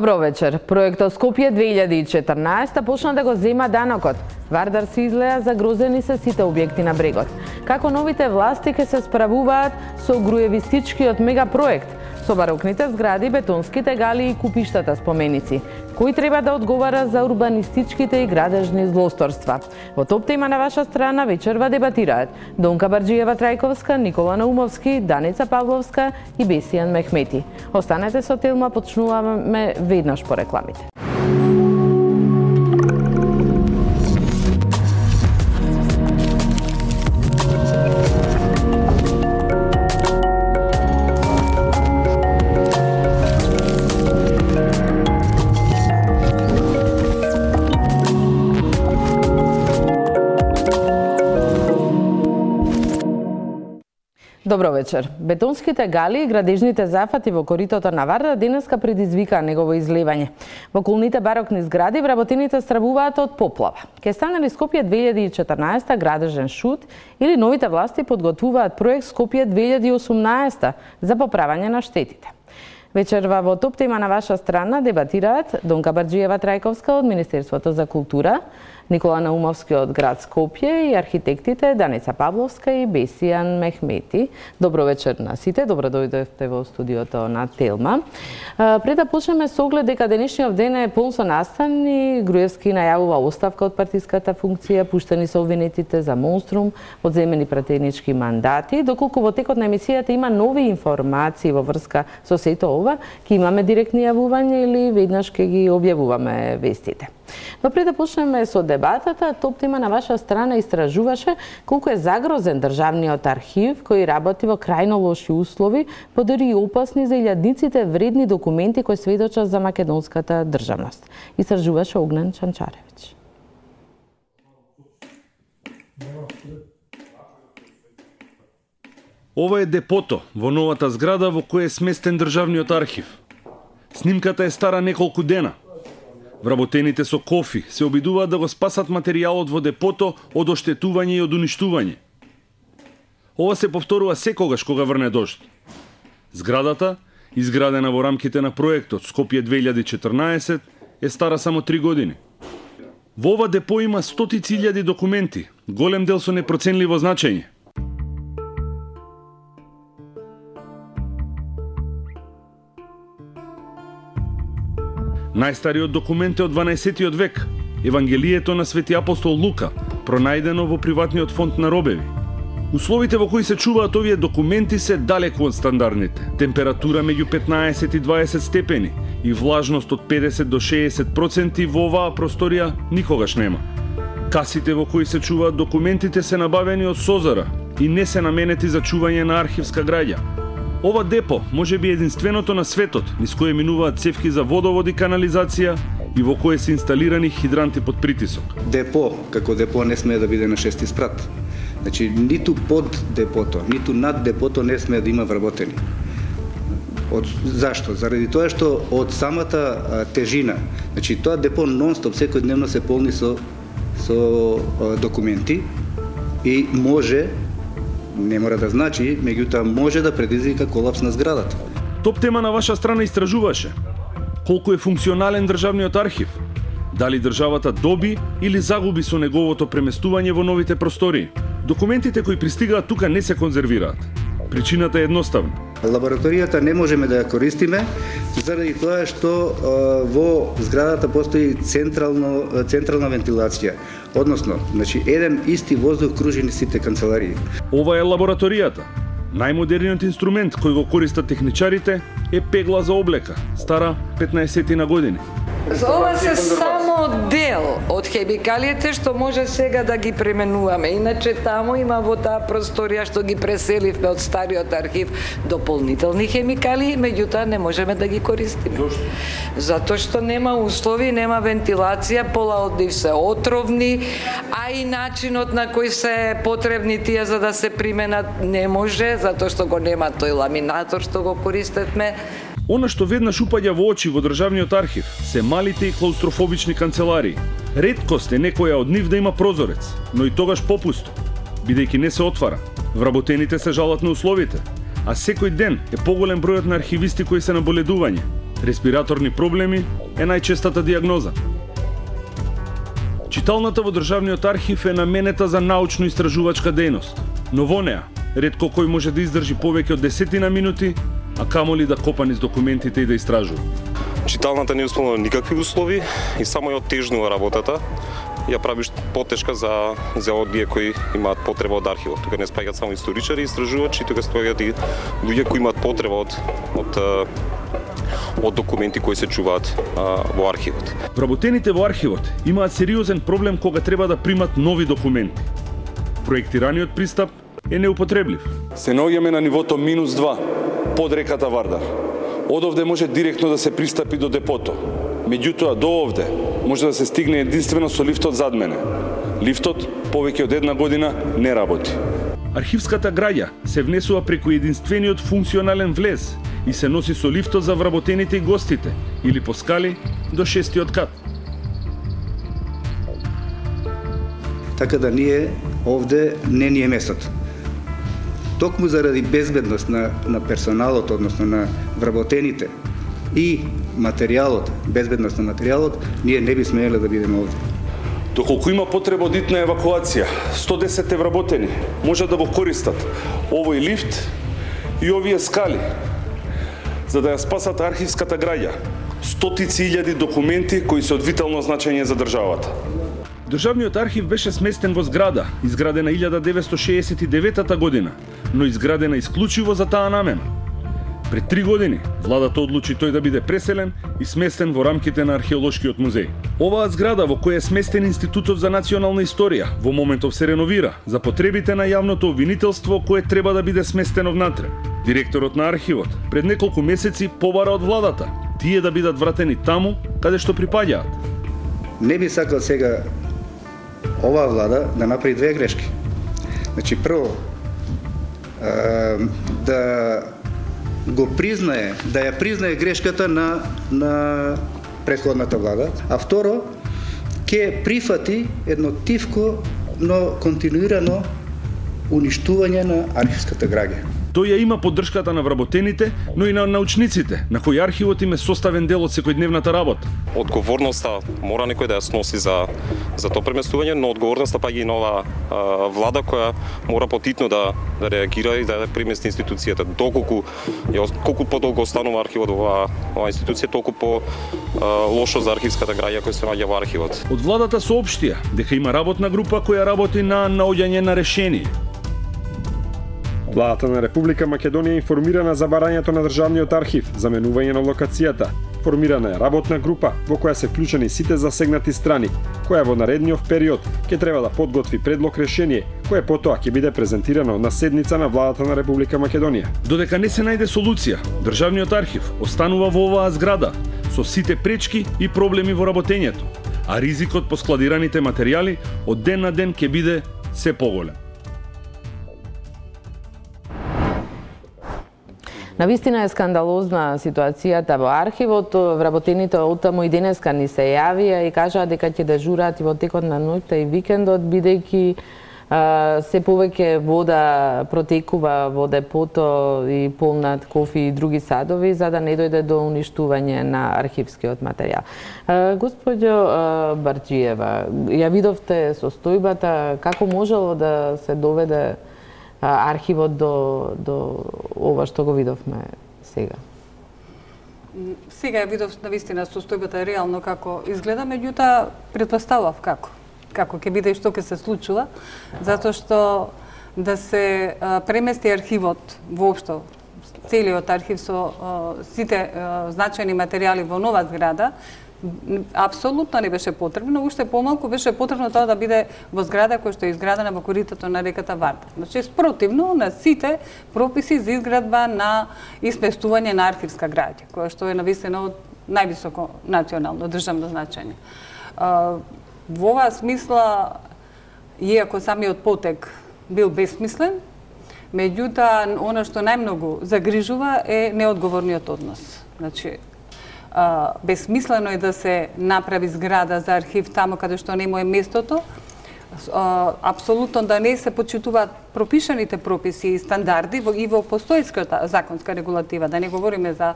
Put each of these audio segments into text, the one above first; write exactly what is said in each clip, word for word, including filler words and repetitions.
Добро вечер. Проектот Скопје две илјади и четрнаесетта почна да го зема данокот. Вардар се излеа загрозени се сите објекти на брегот. Како новите власти ќе се справуваат со груевистичкиот мегапроект, со барокните згради, бетонските гали и купиштата споменици? Кој треба да одговара за урбанистичките и градежни злосторства? Во топ тема на ваша страна вечерва дебатираат Донка Барџиева-Трајковска, Никола Наумовски, Даница Павловска и Бесијан Мехмети. Останете со Телма, почнуваме веднаш по рекламите. Добро вечер. Бетонските гали и градежните зафати во коритото на Вардар денеска предизвикаа негово излевање. Во околните барокни згради вработените стравуваат од поплава. Ке стане ли Скопје две илјади и четрнаесетта градежен шут или новите власти подготвуваат проект Скопје две илјади и осумнаесетта за поправање на штетите? Вечерва во топ тема на ваша страна дебатираат Донка Барџиева-Трајковска од Министерството за култура, Никола Наумовски од град Скопје и архитектите Даница Павловска и Бесијан Мехмети. Добро вечер на сите, добро дојдовте во студиото на Телма. Пред да почнеме со оглед дека денешниот ден е полн со настани, Груевски најавува оставка од партиската функција, пуштени се обвинетите за монструм, одземени пратенички мандати. Доколку во текот на емисијата има нови информации во врска со сето ова, ќе имаме директни јавувања или веднаш ќе ги објавуваме вестите. Но пред да почнеме со дебатата, топ тема на ваша страна истражуваше колку е загрозен државниот архив кој работи во крајно лоши услови, подори и опасни за илјадниците вредни документи кои сведочат за македонската државност. Истражуваше Огнен Чанчаревич. Ова е депото во новата зграда во која е сместен државниот архив. Снимката е стара неколку дена. Вработените со кофи се обидуваат да го спасат материјалот во депото од оштетување и од уништување. Ова се повторува секогаш кога врне дожд. Зградата, изградена во рамките на проектот Скопје две илјади и четрнаесетта, е стара само три години. Во ова депо има стотици илјади документи, голем дел со непроценливо значење. Најстариот документ е од дванаесеттиот век, Евангелието на Свети апостол Лука, пронајдено во приватниот фонд на Робеви. Условите во кои се чуваат овие документи се далеку од стандардните. Температура меѓу петнаесет и дваесет степени и влажност од педесет до шеесет проценти во оваа просторија никогаш нема. Касите во кои се чуваат документите се набавени од Созара и не се наменети за чување на архивска граѓа. Ова депо може би единственото на светот, низ кое минуваат цевки за водовод и канализација и во кое се инсталирани хидранти под притисок. Депо, како депо, не смее да биде на шести спрат. Значи, ниту под депото, ниту над депото не смее да има вработени. Од, зашто? Заради тоа што од самата а, тежина, значи тоа депо нон-стоп секојдневно се полни со, со а, документи и може, не мора да значи, меѓутоа може да предизвика колапс на зградата. Топ тема на ваша страна истражуваше колку е функционален државниот архив, дали државата доби или загуби со неговото преместување во новите простории. Документите кои пристигаат тука не се конзервираат. Причината е едноставна. Лабораторијата не можеме да ја користиме заради тоа што а, во зградата постои централно, централна вентилација. Односно, значи еден исти воздух кружи низ сите канцеларии. Ова е лабораторијата. Најмодерниот инструмент кој го користат техничарите е пегла за облека, стара петнаесет години. Ова се само дел од хемикалите што може сега да ги пременуваме. Иначе таму има во таа просторија што ги преселивме од стариот архив дополнителни хемикали, меѓутоа не можеме да ги користиме. Зошто? Затоа што нема услови, нема вентилација, пола од нив се отровни, а и начинот на кој се потребни тие за да се применат не може, затоа што го нема тој ламинатор што го користевме. Она што веднаш упаѓа во очи во државниот архив се малите и клаустрофобични канцеларии. Реткост е некоја од нив да има прозорец, но и тогаш попусто, бидејќи не се отвара. Вработените се жалат на условите, а секој ден е поголем бројот на архивисти кои се на боледување. Респираторни проблеми е најчестата дијагноза. Читалната во Државниот архив е наменета за научно-истражувачка дејност, но во неа ретко кој може да издржи повеќе од десетина минути, а камоли да копа низ документите и да истражува. Читалната не исполнува никакви услови и само ја оттежнува работата. Ја прави потешка за за оние кои имаат потреба од архивот. Тука не спаѓаат само историчари и истражувачи, тука спаѓаат и луѓе кои имаат потреба од од од документи кои се чуваат а, во архивот. Вработените во архивот имаат сериозен проблем кога треба да примат нови документи. Проектираниот пристап е неупотреблив. Се наоѓаме на нивото минус два под реката Вардар. Од овде може директно да се пристапи до депото. Меѓутоа, до овде може да се стигне единствено со лифтот зад мене. Лифтот повеќе од една година не работи. Архивската граѓа се внесува преку единствениот функционален влез и се носи со лифтот за вработените и гостите, или по скали до шестиот кат. Така да ние овде не ни е местото. Токму заради безбедност на, на персоналот, односно на вработените и материјалот, безбедност на материјалот, ние не би смееле да бидеме овде. Доколку има потреба од итна евакуација, сто десет вработени може да го користат овој лифт и овие скали, за да ја спасат архивската граѓа, стотици илјади документи кои се од витално значење за државата. Државниот архив беше сместен во зграда, изградена илјада деветстотини шеесет и девета година, но изградена исклучиво за таа намена. Пред три години, владата одлучи тој да биде преселен и сместен во рамките на археолошкиот музеј. Оваа зграда во која е сместен Институтот за национална историја во моментов се реновира за потребите на јавното обвинителство кое треба да биде сместено внатре. Директорот на архивот пред неколку месеци побара од владата тие да бидат вратени таму каде што припаѓаат. Не би сакал сега оваа влада да направи две грешки. Значи, прво, да го признае, да ја признае грешката на, на претходната влада, а второ, ќе прифати едно тивко, но континуирано уништување на архивската граѓа. Тој ја има поддршката на вработените, но и на научниците, на кои архивот им е составен дел од секојдневната работа. Одговорноста мора некој да ја сноси за за тоа преместување, но одговорноста паѓа и нова а, влада која мора потитно да да реагира и да премести институцијата. Доколку ја колку подолго останува архивот во оваа ова институција, толку по а, лошо за архивската граѓа која се наоѓа во архивот. Од владата соопштија дека има работна група која работи на наоѓање на решение. Владата на Република Македонија е информирана за барањето на Државниот архив, заменување на локацијата. Формирана е работна група во која се вклучени сите засегнати страни, која во наредниот период ќе треба да подготви предлог решение, кое потоа ќе биде презентирано на седница на Владата на Република Македонија. Додека не се најде солуција, Државниот архив останува во оваа зграда со сите пречки и проблеми во работењето, а ризикот по складираните материјали од ден на ден ќе биде се поголем. Навистина е скандалозна ситуацијата во архивот. Вработените од таму и денеска ни се јавија и кажаа дека ќе дежураат и во текот на ноќта и викендот, бидејќи се повеќе вода протекува во депото и полнат кофи и други садови, за да не дојде до уништување на архивскиот материјал. Господјо Барџиева, ја видовте состојбата, како можело да се доведе архивот до, до ова што го видовме сега? Сега ја видов навистина состојбата реално како изгледа, меѓутоа претпоставав како. Како ќе биде и што ќе се случува, затоа што да се а, премести архивот воопшто, целиот архив со а, сите а, значајни материјали во нова зграда, апсолутно не беше потребно, уште помалку беше потребно тоа да биде во зграда која што е изградена во коритото на реката Вардар. Значи, спротивно на сите прописи за изградба на испестување на архивска граѓа, која што е навистина од највисоко национално државно значење. Во оваа смисла, иако самиот потек бил бесмислен, меѓутоа, она што најмногу загрижува е неодговорниот однос. Значи, Uh, бесмислено е да се направи зграда за архив таму каде што не му е местото, uh, апсолутно да не се почитуваат пропишаните прописи и стандарди во, и во постојската законска регулатива, да не говориме за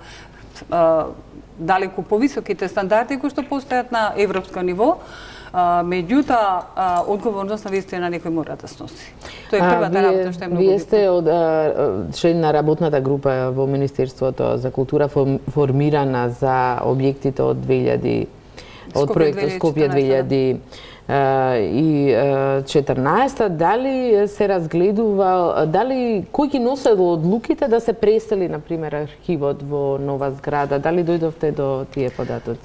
uh, далеку повисоките стандарди кои што постојат на европско ниво. А, меѓутоа, одговорност на вистина некој мора да сноси. Тоа е првата работа што е многу битна. Вие сте од член на работната група во Министерството за култура формирана за објектите од две илјади од проектот Скопје две илјади и четрнаесета. Дали се разгледува, дали кој ги носел одлуките да се пресели, например, архивот во нова зграда? Дали дојдовте до тие податоци?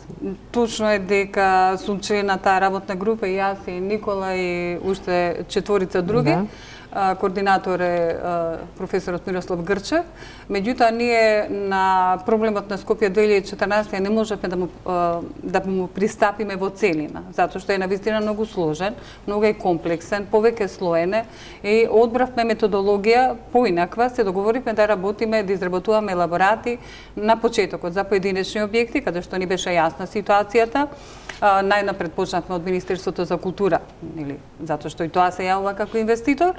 Точно е дека сум член на таа работна група и јас и Никола и уште четворица други. Да. Координатор е професорот Мирослав Грчев. Меѓутоа, ние на проблемот на Скопје две илјади и четрнаесета не можевме да му, да му пристапиме во целина, затоа што е навистина многу сложен, многу е комплексен, повеќе слоене и одбравме методологија поинаква, се договоривме да работиме, да изработуваме елаборати на почетокот за поединечни објекти, каде што ни беше јасна ситуацијата. Најнапред почнавме од Министерството за култура, или затоа што и тоа се јавува како инвеститор.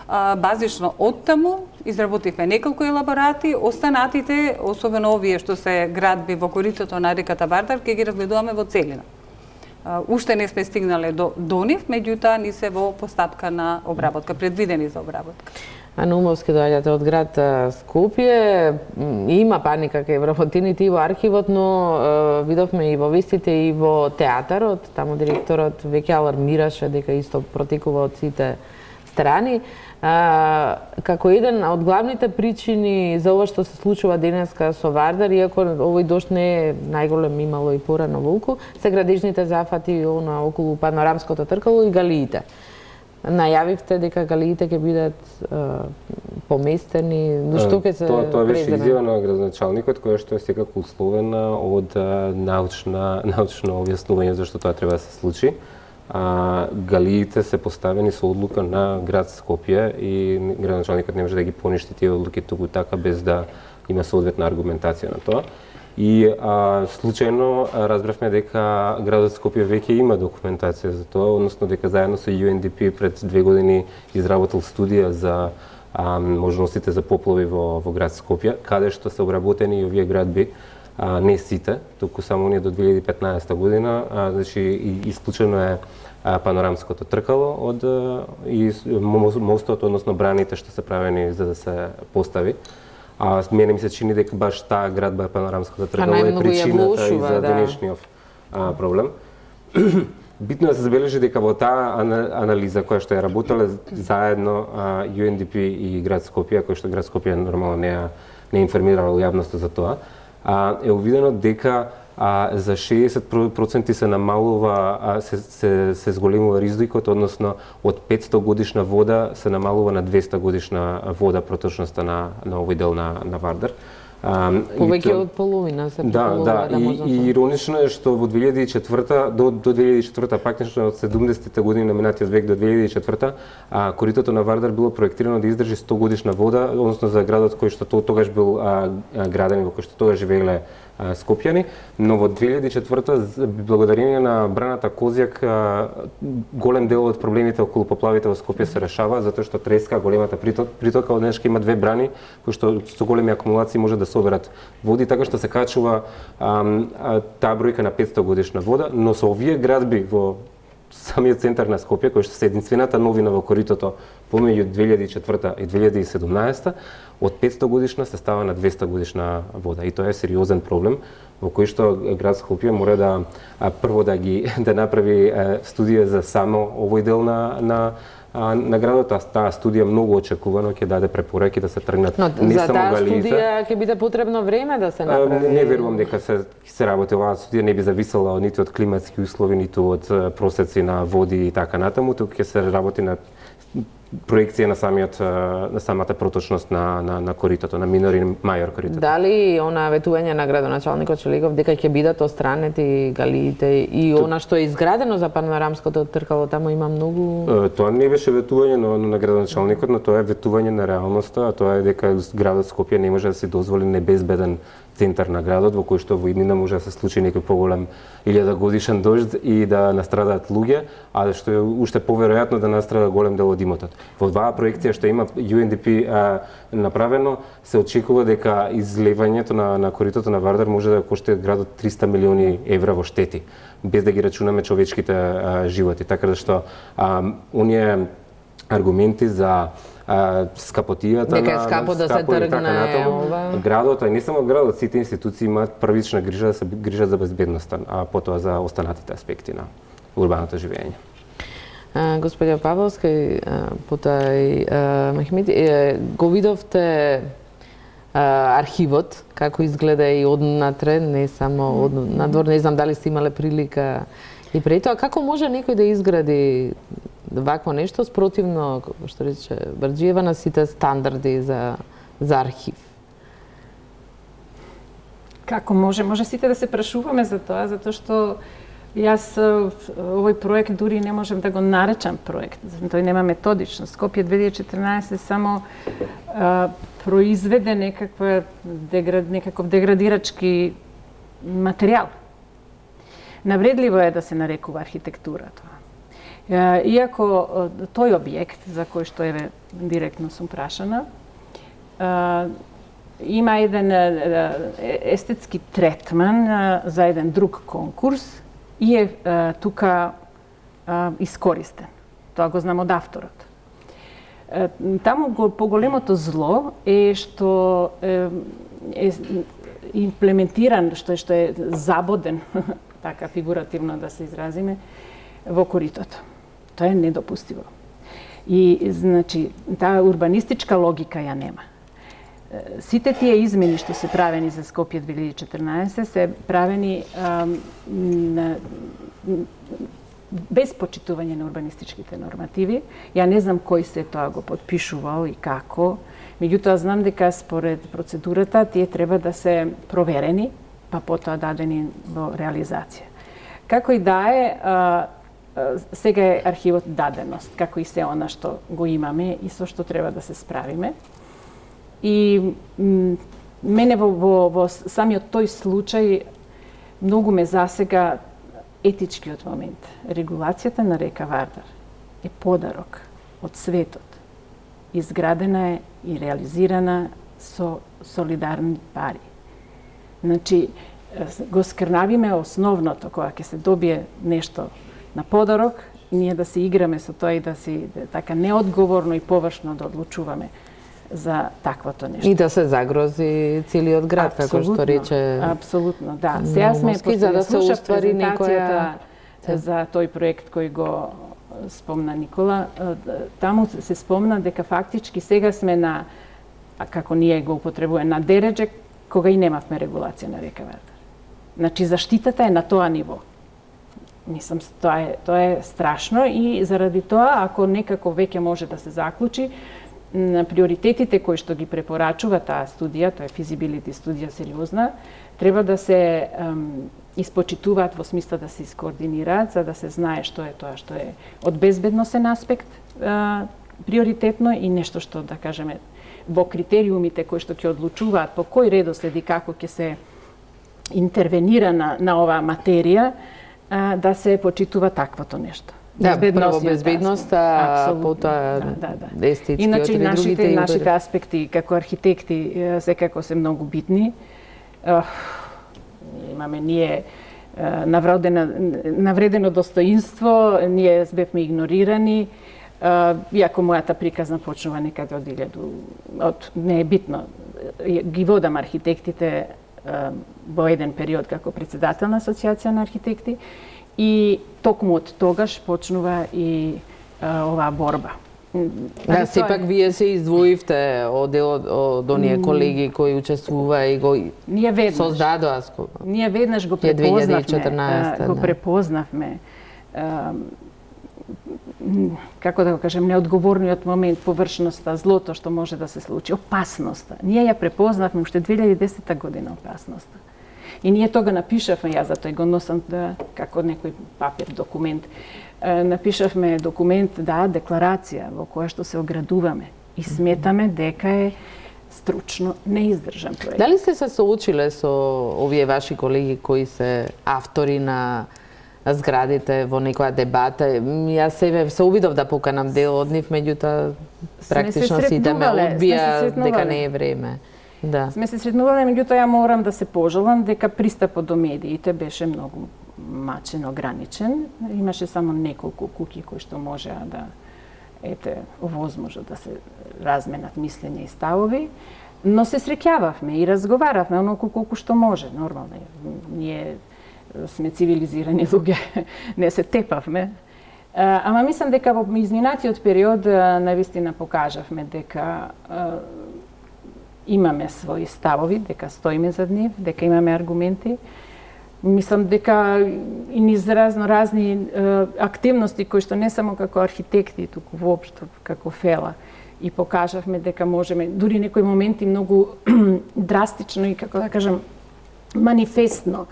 Базично од таму изработивме неколку елаборати, останатите, особено овие што се градби во коритото на реката Вардар, ќе ги разгледуваме во целина. Уште не сме стигнале до, до нив, меѓутоа ни се во постапка на обработка, предвидени за обработка. Наумовски доаѓате од град Скопје, има паника кај вработените и во архивот, но видовме и во вестите и во театарот, таму директорот веќе алармираше дека исто протекува од сите страни. А, како еден од главните причини за ова што се случува денеска со Вардар, иако овој дожд не е најголем, имало и порано волку, се градежните зафати она околу панорамското тркало и галиите. Најавивте дека галиите ќе бидат а, поместени, што ќе се тоа, тоа беше изјава на градоначалникот, која што е секако условена од а, научна, научно објаснување зашто тоа треба да се случи. А, галиите се поставени со одлука на град Скопје и градоначалникот не може да ги поништи тие одлуки туку така без да има соодветна аргументација на тоа. И а, случајно разбравме дека градот Скопје веќе има документација за тоа, односно дека заедно со Ю Ен Ди Пи пред две години изработил студија за а, можностите за поплави во, во град Скопје, каде што се обработени и овие градби, а, не сите, туку само оние до две илјади и петнаесета година, а, значи исклучено е а, панорамското тркало од и мостот, односно браните што се правени за да се постави. А мене ми се чини дека баш таа градба панорамското тркало е причината и за денешниот да. проблем. Битно е да се забележи дека во таа анализа која што ја работеле заедно Ю Ен Ди Пи и град Скопје, кој што град Скопје нормално не не информирал јавноста за тоа, е увидено дека а, за шеесет проценти се намалува, а, се, се, се зголемува ризикот, односно од петсто годишна вода се намалува на двеста годишна вода проточноста на, на овој дел на, на Вардар. Повеќе од половина се предполагува да, да, да и, и иронично е што во две илјади и четврта до до две илјади и четврта, практично од седумдесетите години на минатиот век до две илјади и четврта, а коритото на Вардар било проектирано да издржи сто годишна вода, односно за градот кој што тогаш бил а, граден, во кој што тогаш живееле а, скопјани, но во две илјади и четврта благодарение на браната Козјак а, голем дел од проблемите околу поплавите во Скопје се решава затоа што треска големата притока од денешка има две брани кои што со големи акумулации може да соберат води, така што се качува а, а, таа бројка на петсто годишна вода, но со овие градби во самиот центар на Скопје, кој што се единствената новина во коритото помеѓу две илјади и четврта и две илјади и седумнаесета, од петсто годишна се става на двеста годишна вода. И тоа е сериозен проблем во кој што град Скопје мора да а, прво да ги да направи а, студија за само овој дел на на А, на градот, таа студија многу очекувано ќе даде препораки да се тргнат но, не за само таа галиите. Студија ќе биде потребно време да се направи. А, не верувам дека се се работи оваа студија не би зависела ниту од климатски услови, ниту од просеци на води и така натаму, туку ќе се работи на проекција на самиот на самата проточност на на на коритото, на минор и мајор коритото. Дали она ветување на градоначалникот Челегов дека ќе бидат отстранети галиите и То... она што е изградено за панорамското тркало, таму има многу. Тоа не беше ветување на, на градоначалникот, но тоа е ветување на реалноста, а тоа е дека градот Скопје не може да се дозволи небезбеден центар на градот, во кој што во иднина може да се случи некој поголем илјада годишен дожд и да настрадаат луѓе, а што е уште поверојатно да настрада голем дел од имотот. Во оваа проекција што има Ю Ен Ди Пи а, направено, се очекува дека излевањето на, на коритото на Вардар може да коштае градот триста милиони евра во штети, без да ги рачунаме човечките а, животи. Така да што а, оние аргументи за а, скапотијата дека е на, скапо да се тргне ова. Градот, а и не само градот, сите институции имаат првична грижа да се грижат за безбедноста, а потоа за останатите аспекти на урбаното живење. Господја Павловска и потоа и Мехмеди, го видовте архивот како изгледа и однатре, не само од надвор, не знам дали сте имале прилика и преди тоа, како може некој да изгради вакво нешто спротивно, што рече Барџиева, на сите стандарди за за архив? Како може? Може сите да се прашуваме за тоа, затоа што јас овој проект дури не можам да го наречам проект. Тој нема методичност. Скопје две илјади и четрнаесет само а, произведе некаква деград, некаков деградирачки материјал. Навредливо е да се нарекува архитектура тоа. Иако тој објект, за кој што еве директно сум прашана, има еден естетски третман за еден друг конкурс и е тука искористен. Тоа го знам од авторот. Таму поголемото зло е што е имплементиран, што е, што е забоден, така фигуративно да се изразиме, во коритото. Тоа е недопустиво. И, значи, таа урбанистичка логика ја нема. Сите тие измени што се правени за Скопје две илјади и четрнаесет се правени ам, на, без почитување на урбанистичките нормативи. Ја не знам кој се тоа го подпишувал и како. Меѓутоа знам дека според процедурата тие треба да се проверени, па потоа дадени во реализација. Како и да е, а, сега е архивот даденост, како и се она што го имаме и со што треба да се справиме. И мене во, во, во самиот тој случај многу ме засега етичкиот момент. Регулацијата на река Вардар е подарок од светот. Изградена е и реализирана со солидарни пари. Значи, го скрнавиме основното, кога ќе се добие нешто на подарок, ние да се играме со тоа и да си така неодговорно и површно да одлучуваме за таквото нешто. И да се загрози целиот град, како што рече. Апсолутно, да. Сега сме за да се уствари некоја за тој проект кој го спомна Никола, таму се спомна дека фактички сега сме на, а како ние го употребуваме, на дередже кога и немавме регулација на река Вардар. Значи заштитата е на тоа ниво. Мислам, тоа е, тоа е страшно и заради тоа, ако некако веќе може да се заклучи, на приоритетите кои што ги препорачува таа студија, тоа е физибилити студија сериозна, треба да се ем, испочитуваат во смисла да се искоординираат, за да се знае што е тоа што е од безбедносен аспект е, приоритетно и нешто што, да кажеме, во критериумите кои што ќе одлучуваат по кој редослед и како ќе се интервенира на, на оваа материја, е, да се почитува таквото нешто. Да, прво безбедност, а потоа да, да, да. естетскиот Иначе, и другите. нашите, нашите аспекти како архитекти секако се многу битни. Имаме ние навредено, навредено достоинство, ние бевме игнорирани, иако мојата приказна почнува некаде од илјада, од не е битно. Ги водам архитектите во еден период како председател на Асоциација на архитекти и токму од тогаш почнува и а, оваа борба. Да, сепак вие се издвоивте од од, од оние колеги кои учествува и го ние веднаш создадоа. Ние веднаш го препознавме, го да. препознавме а, како да го кажем, неодговорниот момент, површноста, злото што може да се случи, опасноста. Ние ја препознавме уште две илјади и десета година опасноста. И ние тога напишавме, јас затоа го носам да, како некој папир, документ, напишавме документ, да, декларација во која што се оградуваме и сметаме дека е стручно неиздржан проект. Дали сте се соочиле со овие ваши колеги кои се автори на зградите во некоја дебата? Јас себе се обидов да поканам дел од нив, меѓутоа практично сите ме одбија дека не е време. Да. Сме се сретнувале, меѓутоа ја морам да се пожалам дека пристапот до медиите беше многу мачен, ограничен. Имаше само неколку куќи кои што можеа да ете овозможат да се разменат мислења и ставови, но се среќававме и разговаравме оноку колку што може, нормално. Ние сме цивилизирани луѓе, не се тепавме. Ама мислам дека во изминатиот период навистина покажавме дека имаме своји ставови, дека стоиме зад нив, дека имаме аргументи. Мислам дека и низ разно разни е, активности кои што не само како архитекти, туку воопшто како фела, и покажавме дека можеме, дури некои моменти многу драстично и како да кажам манифестно,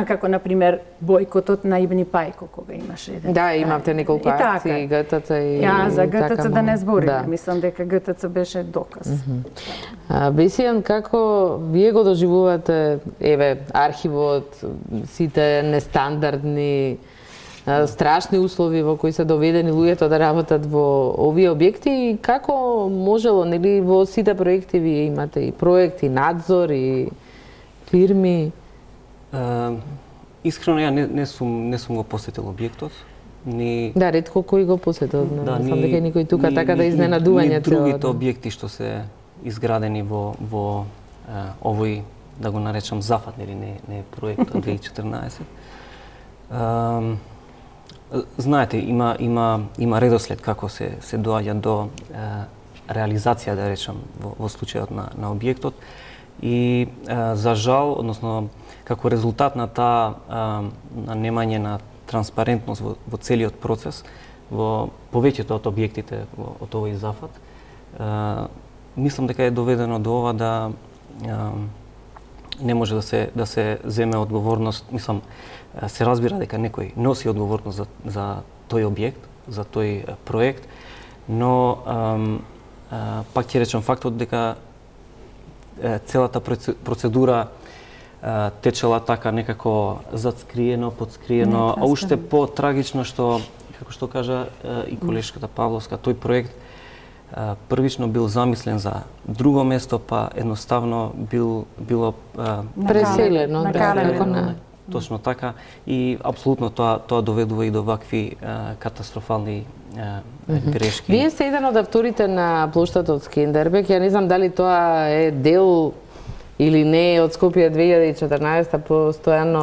како на пример бојкотот на Ибни Пајко кога имаше еден. Да, имавте неколку акции, ГТЦ и Ја за ГТЦ така, да не збориме, да. Мислам дека ГТЦ беше доказ. Mm -hmm. Бесијан, како вие го доживувате, еве, архивот, сите нестандардни, страшни услови во кои се доведени луѓето да работат во овие објекти и како можело, нели, во сите проекти вие имате и проекти, надзор и фирми? Uh, искрено ја не, не сум не сум го посетил објектот. Ни Да, ретко кој го посетил. Да, сам дека никој тука ни, така да изненадување цело. Другите објекти што се изградени во во uh, овој, да го наречам, зафат, нели не не проект од две илјади и четрнаесет. Uh, знаете, има има има редослед како се се доаѓа до uh, реализација, да речам, во, во случајот на на објектот и uh, за жал, односно како резултат на таа на немање на транспарентност во, во целиот процес, во повеќето од објектите во, од овој зафат, а, мислам дека е доведено до ова да а, не може да се да се земе одговорност, мислам се разбира дека некој носи одговорност за за тој објект, за тој проект, но а, а, пак ќе речам фактот дека а, целата процедура течела така некако затскриено, подскриено, а уште по-трагично што, како што кажа и колешката Павловска, тој проект првично бил замислен за друго место, па едноставно бил било преселено, накалено. Точно така и апсолутно тоа тоа доведува и до вакви катастрофални грешки. Вие сте еден од авторите на плоштадот Скендербек. Ја не знам дали тоа е дел или не од Скопје две илјади и четрнаесета постојано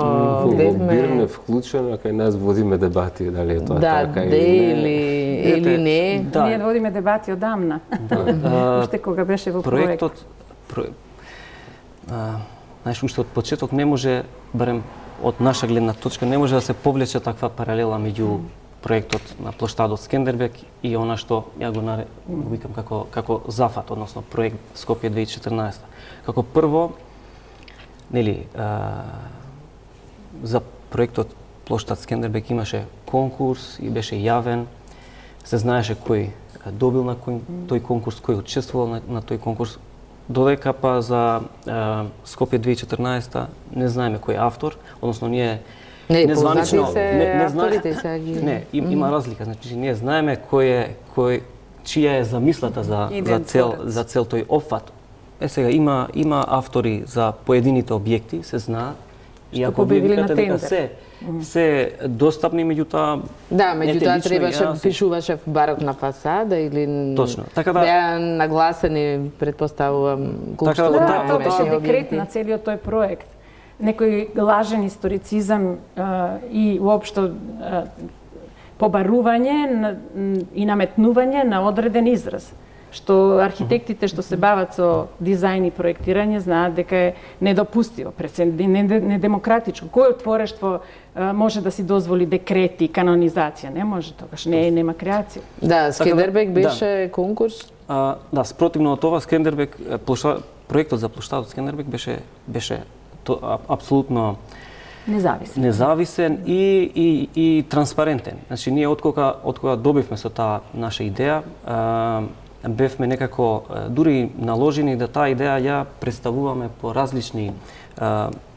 гледаме. Бирме вклучено, кај нас водиме дебати дали е тоа да, така или не. Или не. Да. Ние водиме дебати одамна. Да. Уште кога беше во проектот. Проектот знаеш, уште од почеток не може, барем од наша гледна точка, не може да се повлече таква паралела меѓу проектот на плоштадот Скендербек и она што ја го наре, го викам како како зафат, односно проект Скопје две илјади и четрнаесета. Како прво, нели, а, за проектот плоштад Скендербек имаше конкурс и беше јавен, се знаеше кој добил на кој, тој конкурс, кој учествувал на, на тој конкурс, додека па за а, Скопје две илјади и четрнаесета не знаеме кој е автор, односно ние Не, незванично, се не, не авторите се ги... Не, им, има разлика, значи ние знаеме кој е кој чија е замислата за за цел за цел тој опфат. Е сега има има автори за поедините објекти, се знаат. И ако вие викате дека се се достапни, меѓутоа да, меѓутоа требаше пишуваше барокна фасада или точно. Така да беа нагласени, претпоставувам, колку така да, тоа беше декрет на целиот тој проект. Некој лажен историцизам а, и уопшто а, побарување на, и наметнување на одреден израз, што архитектите што се бават со дизајн и проектирање знаат дека е недопустиво, недемократичко. Кој творештво а, може да си дозволи декрети, канонизација? Не може, тогаш не нема креација. Да, Скендербек беше да. конкурс. А, да, спротивно од тоа Скендербек плоша, проектот за плоштадот Скендербек беше беше то, а, апсолутно независен. Независен и, и, и транспарентен. Значи, ние од кога, од кога добивме со таа наша идеја, а, бевме некако дури наложени да таа идеја ја представуваме по различни,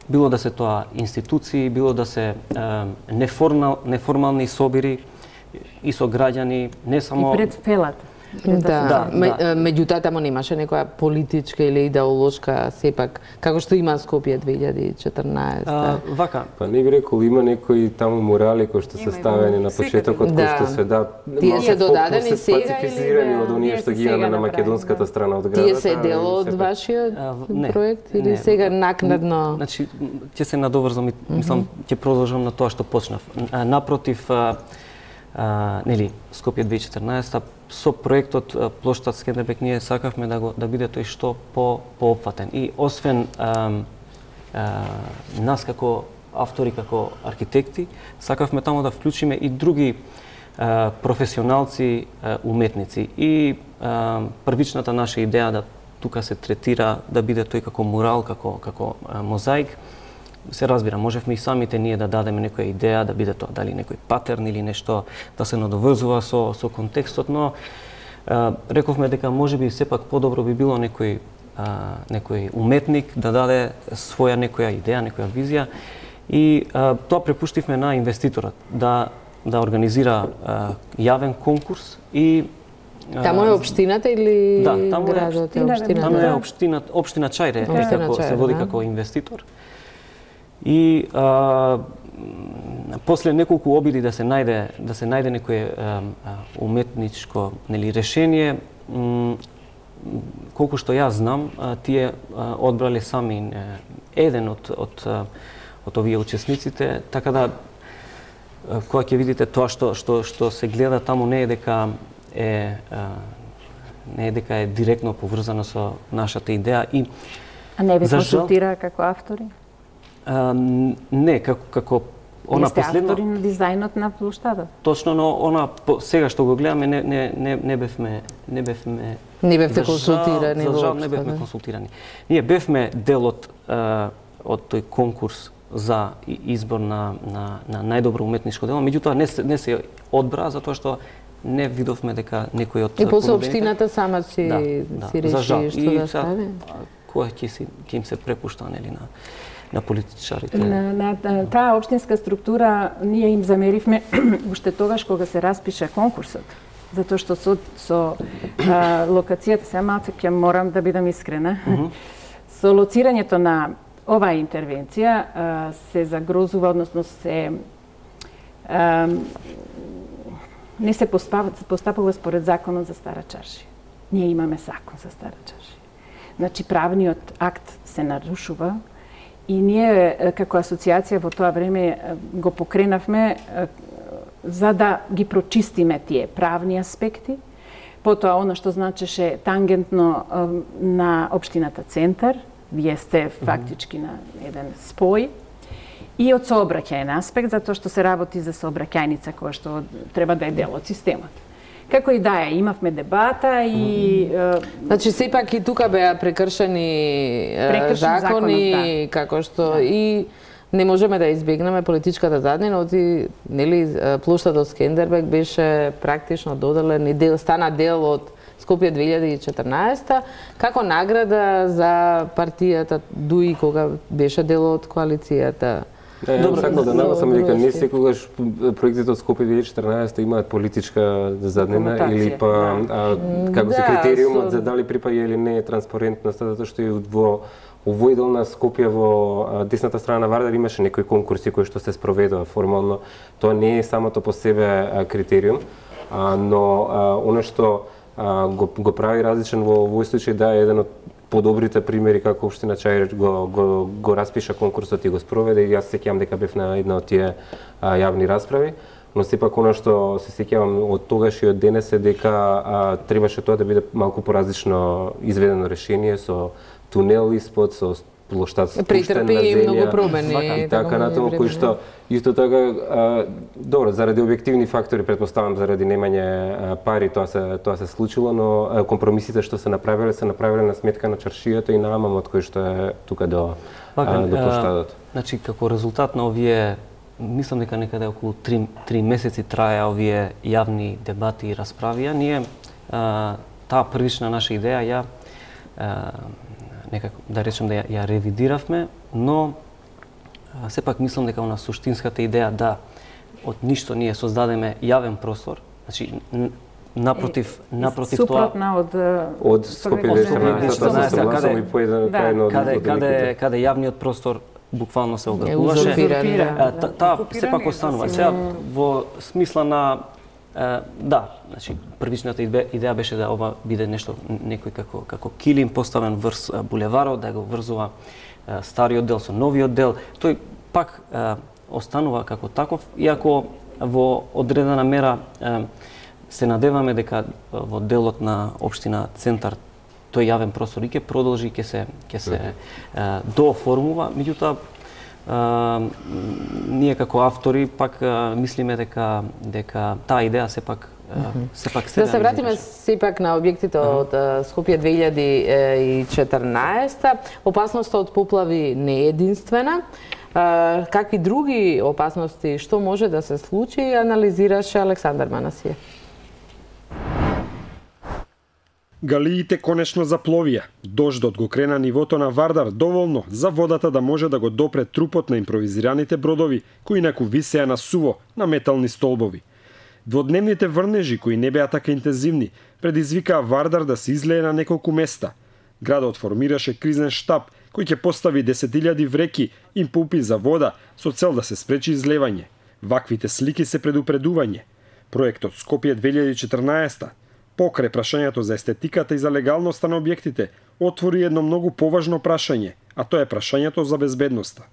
било да се тоа институции, било да се неформал, неформални собири и со граѓани, не само... И пред фелата. Да, да, да. Меѓутоа таму немаше некоја политичка или идеолошка сепак, како што има Скопје две илјади и четрнаесета. А, вака. Па не би рекол, има некои таму морали кои што се ставени на почетокот, кои што се да тие се додадени сега или специфицирани од оние што ги има на македонската страна од градот. Тие се дел од вашиот проект или сега накнадно? Значи ќе се надоврзам и мислам ќе продолжам на тоа што почнав. Напротив, Uh, нели, Скопје две илјади и четрнаесета со проектот uh, Плоштад Скендербег ние сакавме да го да биде тој што по поопфатен. И освен uh, uh, нас како автори, како архитекти, сакавме таму да вклучиме и други uh, професионалци, uh, уметници. И uh, првичната наша идеја да тука се третира да биде тој како мурал, како како uh, мозаик. Се разбира, можевме и самите ние да дадеме некоја идеја, да биде тоа дали некој патерн или нешто да се надоврзува со со контекстот, но а, рековме дека можеби сепак подобро би било некој а, некој уметник да даде своја некоја идеја, некоја визија и а, тоа препуштивме на инвеститорот да да организира а, јавен конкурс и Таму е општината или да, таму градот е општината? Таму е општина, општина Чајре, да. како се води да. како инвеститор. И а, после неколку обиди да се најде да се најде некое а, уметничко нели решение, м, колку што јас знам, а, тие а, одбрале сами а, еден од од од овие учесниците, така да а, кога ќе видите тоа што што што се гледа таму не е дека е а, не е дека е директно поврзано со нашата идеја и а не ве консултира како автори? А, не, како како она Вие сте последно автори на дизајнот на плоштадот. Точно, но она по, сега што го гледаме не не не не бевме не бевме не бевте консултирани. За жал не бевме консултирани. Ние бевме дел од од тој конкурс за избор на на на најдобро уметничко дело, меѓутоа не се не се одбра затоа што не видовме дека некој од и после општината сама си да, си да, реши што да стави. Кој ќе си ќе им се препушта нели на на политичарите. На, на, на таа општинска структура ние им замеривме уште тогаш кога се распише конкурсот. Затоа што со, со а, локацијата, се малце ќе морам да бидам искрена, mm -hmm. со лоцирањето на оваа интервенција а, се загрозува, односно се а, не се постапува според законот за Стара Чаршија. Ние имаме закон за Стара Чаршија. Значи правниот акт се нарушува. И ние, како асоциација, во тоа време го покренавме за да ги прочистиме тие правни аспекти. Потоа, оно што значеше тангентно на општината Центар, вие сте фактички на еден спој, и од сообраќајен аспект, затоа што се работи за сообраќајница која што треба да е дел од системот. Како и да е, имавме дебата и... Mm. Значи, сепак и тука беа прекршени закони, законот, да. Како што да. И не можеме да избегнеме политичката заднина, оти, нели, плоштадот Скендербег беше практично доделен и дел, стана дел од Скопје две илјади и четрнаесета, како награда за партијата ДУИ, кога беше дел од коалицијата. Не, добро, сакам да нагласам дека не секогаш проектите од Скопје две илјади и четрнаесета имаат политичка заднина или па а, како се критериумот да, со... за дали припаѓа или не е транспарентност, затоа што и во овој дел на Скопје во десната страна на Вардар имаше некои конкурси кои што се спроведува формално. Тоа не е самото по себе критериум, а, но а, оно што а, го, го прави различен во овој случај да е еден од подобрите примери како општина Чајре го, го, го распиша конкурсот и го спроведе. И јас се сеќавам дека бев на една од тие а, јавни расправи, но сепак оно што се сеќавам од тогаш и од денес е дека а, требаше тоа да биде малку поразлично изведено решение со тунел испод, со плоштад спуштен на земја. Многу промени. И така натаму, кои што исто така, а, добро, заради објективни фактори, претпоставам заради немање а, пари, тоа се тоа се случило, но а, компромисите што се направиле, се направиле на сметка на чаршијата и на амамот кој што е тука до, а, до плоштадот. Значи, како резултат на овие, мислам дека некаде околу три месеци траја овие јавни дебати и расправија, ние а, таа првична наша идеја ја некако да речем да ја, ја ревидиравме, но сепак мислам дека она суштинската идеја да од ништо ние создадеме јавен простор, значи напротив, напротив тоа супротна од од Скопје две тисаца четрнаесета каде по еден каде каде каде јавниот простор буквално се ограничуваше. Таа сепак останува. Сега во смисла на да, значи првичната идеја беше да ова биде нешто некој како како килим поставен врз булеварот, да го врзува стариот дел со новиот дел. Тој пак останува како таков, иако во одредена мера се надеваме дека во делот на општина Центар тој јавен простор и ќе продолжи, ќе се ќе се дооформува, меѓутоа ние како автори пак мислиме дека дека таа идеја сепак сепак се да се вратиме сепак на објектите од Скопје две илјади и четрнаесета. Опасноста од поплави не е единствена. Какви други опасности, што може да се случи, анализираше Александар Манасиев. Галиите конечно запловија. Дождот го крена нивото на Вардар доволно за водата да може да го допре трупот на импровизираните бродови кои инаку висеа на суво на метални столбови. Дводневните врнежи кои не беа така интензивни предизвикаа Вардар да се излее на неколку места. Градот формираше кризен штаб кој ќе постави десет илјади вреки и пумпи за вода со цел да се спречи излевање. Ваквите слики се предупредување. Проектот Скопје две илјади и четрнаесета покрај прашањето за естетиката и за легалноста на објектите, отвори едно многу поважно прашање, а тоа е прашањето за безбедноста.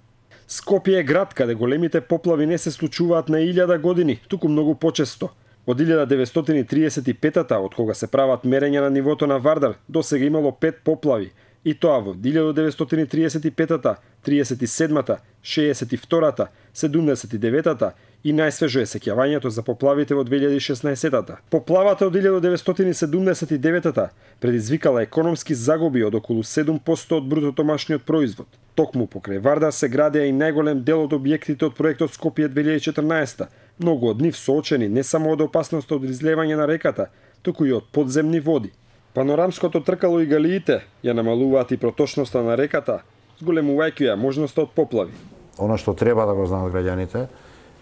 Скопје е град каде големите поплави не се случуваат на илјада години, туку многу почесто. Од илјада деветстотини триесет и петата, од кога се прават мерења на нивото на Вардар, досега имало пет поплави, и тоа во илјада деветстотини триесет и петата, триесет и седмата, шеесет и втората, седумдесет и деветата и најсвежо е сеќавањето за поплавите во две илјади и шеснаесетата. Поплавата од илјада деветстотини седумдесет и деветата предизвикала економски загуби од околу седум проценти од брутодомашниот производ. Токму покрај Вардар се градеа и најголем дел од објектите од проектот Скопје две илјади и четрнаесета, многу од нив соочени не само од опасноста од излевање на реката, туку и од подземни води. Панорамското тркало и галиите ја намалуваат и проточноста на реката, зголемувајќи ја можноста од поплави. Она што треба да го знаат граѓаните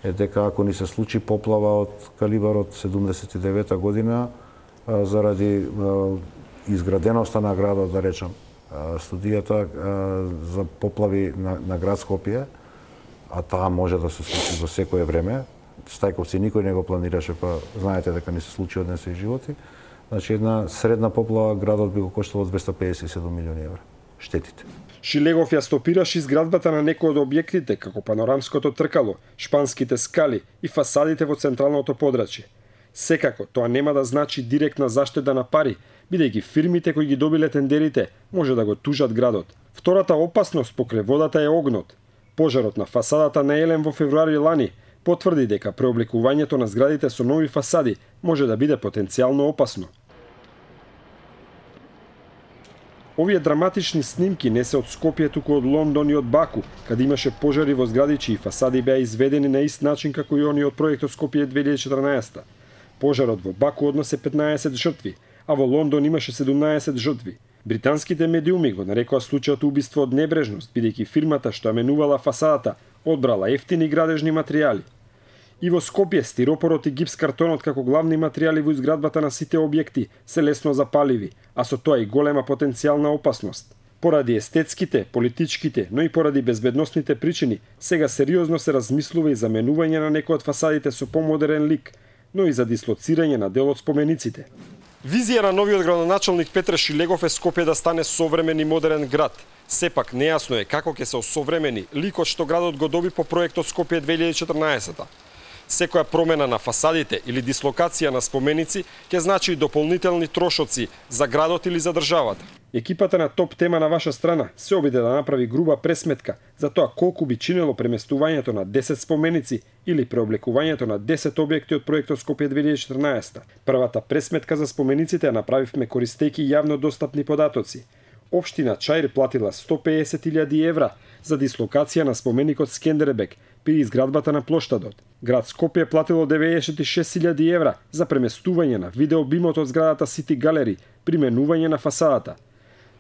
е дека ако ни се случи поплава од калибарот седумдесет и девета година заради изграденоста на градот, да речам, студијата за поплави на, на град Скопје, а таа може да се случи во секое време. Стајковци никој не го планираше, па знаете дека не се случи од днес и животи. Значи една средна поплава градот би го коштало двесте педесет и седум милиони евра. Штетите. Шилегов ја стопираше изградбата на некои од објектите, како панорамското тркало, шпанските скали и фасадите во централното подрачје. Секако, тоа нема да значи директна заштеда на пари, бидејќи фирмите кои ги добиле тендерите може да го тужат градот. Втората опасност покрај водата е огнот. Пожарот на фасадата на Елем во февруари лани потврди дека преобликувањето на зградите со нови фасади може да биде потенцијално опасно. Овие драматични снимки не се од Скопје, туку од Лондон и од Баку, каде имаше пожари во згради чии фасади беа изведени на ист начин како и оние од проектот Скопје две илјади и четрнаесета. Пожарот во Баку однесе петнаесет жртви, а во Лондон имаше седумнаесет жртви. Британските медиуми го нарекоа случајот убиство од небрежност, бидејќи фирмата што ја менувала фасадата одбрала ефтини градежни материјали. И во Скопје стиропорот и гипс-картонот како главни материјали во изградбата на сите објекти се лесно запаливи, а со тоа и голема потенцијална опасност. Поради естетските, политичките, но и поради безбедносните причини, сега сериозно се размислува и за менување на некои од фасадите со помодерен лик, но и за дислоцирање на дел од спомениците. Визија на новиот градоначалник Петре Шилегов е Скопје да стане современ и модерен град. Сепак нејасно е како ќе се осовремени ликот што градот го доби по проектот Скопје две илјади и четрнаесета. Секоја промена на фасадите или дислокација на споменици ќе значи и дополнителни трошоци за градот или за државата. Екипата на Топ Тема на ваша страна се обиде да направи груба пресметка за тоа колку би чинело преместувањето на десет споменици или преоблекувањето на десет објекти од проектот Скопје две илјади и четрнаесета. Првата пресметка за спомениците ја направивме користејќи јавно достапни податоци. Општина Чаир платила сто педесет илјади евра за дислокација на споменикот Скендербек, при изградбата на плоштадот. Град Скопје платило деветдесет и шест илјади евра за преместување на видеобимот од зградата Сити Галери при менување на фасадата.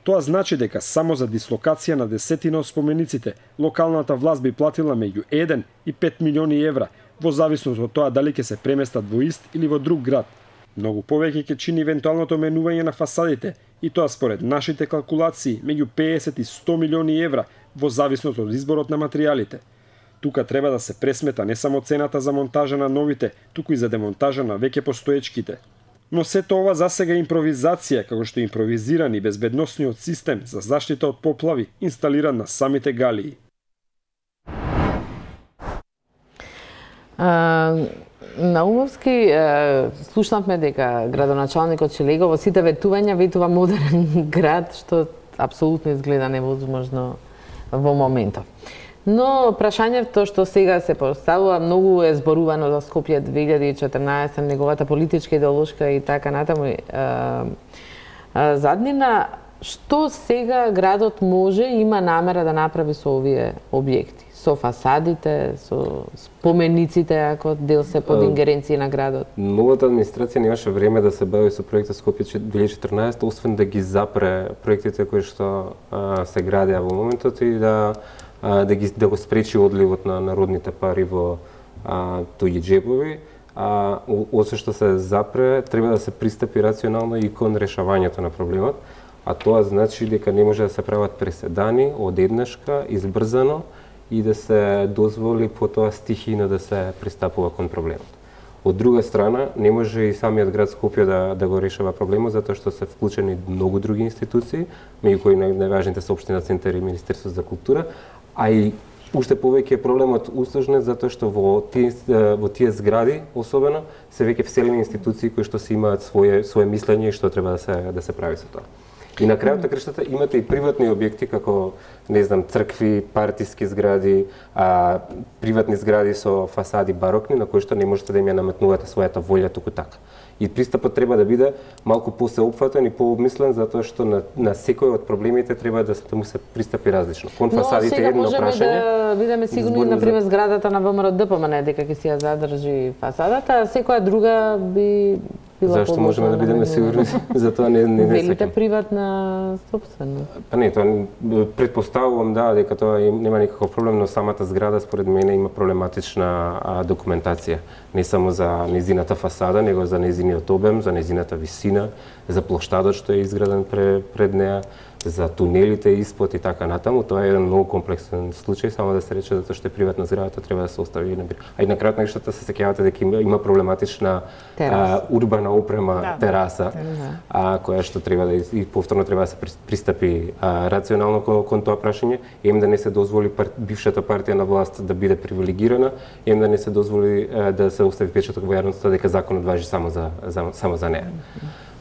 Тоа значи дека само за дислокација на десетина од спомениците локалната власт би платила меѓу еден и пет милиони евра, во зависност од тоа дали ќе се преместат во ист или во друг град. Многу повеќе ќе чини евентуалното менување на фасадите, и тоа според нашите калкулации меѓу педесет и сто милиони евра во зависност од изборот на материјалите. Тука треба да се пресмета не само цената за монтажа на новите, туку и за демонтажа на веќе постоечките. Но сето ова засега импровизација, како што е импровизиран и безбедносниот систем за заштита од поплави инсталиран на самите галии. А, Наумовски, слушнавме дека градоначалникот Шелего во сите ветувања ветува модерен град, што апсолутно изгледа невозможно во моментов. Но прашањето што сега се поставува многу е зборувано за Скопје две илјади и четрнаесетта, неговата политичка, идеолошка и така натаму е, е, заднина. Што сега градот може и има намера да направи со овие објекти? Со фасадите, со спомениците, ако дел се под ингеренција на градот? Новата администрација немаше време да се бави со проектот Скопје две илјади и четрнаесетта, освен да ги запре проектите кои што а, се градеа во моментот и да а, да ги да го спречи одливот на народните пари во а, туѓи џепови. А освен што се запре, треба да се пристапи рационално и кон решавањето на проблемот, а тоа значи дека не може да се прават преседани одеднашка, избрзано и да се дозволи потоа стихино да се пристапува кон проблемот. Од друга страна, не може и самиот град Скопје да, да го решава проблемот, затоа што се вклучени многу други институции, меѓу кои најважните се Општина Центар и Министерство за култура, а и уште повеќе е проблемот усложнет затоа што во тие во тие згради особено се веќе вселени институции кои што си имаат свое свое мислење и што треба да се да се прави со тоа. И на крајот на краштата имате и приватни објекти како не знам цркви, партиски згради, а приватни згради со фасади барокни на кои што не можете да им ја наметнувате својата волја туку така. И пристапот треба да биде малку посеопфатен и пообмислен затоа што на, на секој од проблемите треба да, да му се пристапи различно. Кон фасадите е едно прашање. Но сега можеме да бидеме сигурни, на пример, зградата на ВМРО ДПМН дека ќе си ја задржи фасадата, а секоја друга би била Зашто можеме да бидеме сигурни за тоа не не не велите приватна собственост. Па не, тоа претпоставувам да дека тоа нема никаков проблем, но самата зграда според мене има проблематична а, документација, не само за незината фасада, него за незиниот обем, за незината висина, за плоштадот што е изграден пред, пред неа, за тунелите испод и така натаму. Тоа е еден многу комплексен случај, само да се рече затоа што е приватна зградата треба да се остави на бир. А и на крајот на крајштата се сеќавате дека има, има проблематична а, урбана опрема да, тераса, да. А, која што треба да и повторно треба да се пристапи а, рационално кон, кон тоа прашање, ем да не се дозволи пар, бившата партија на власт да биде привилегирана, ем да не се дозволи а, да се остави печаток во јавноста дека законот важи само за, за само за неа.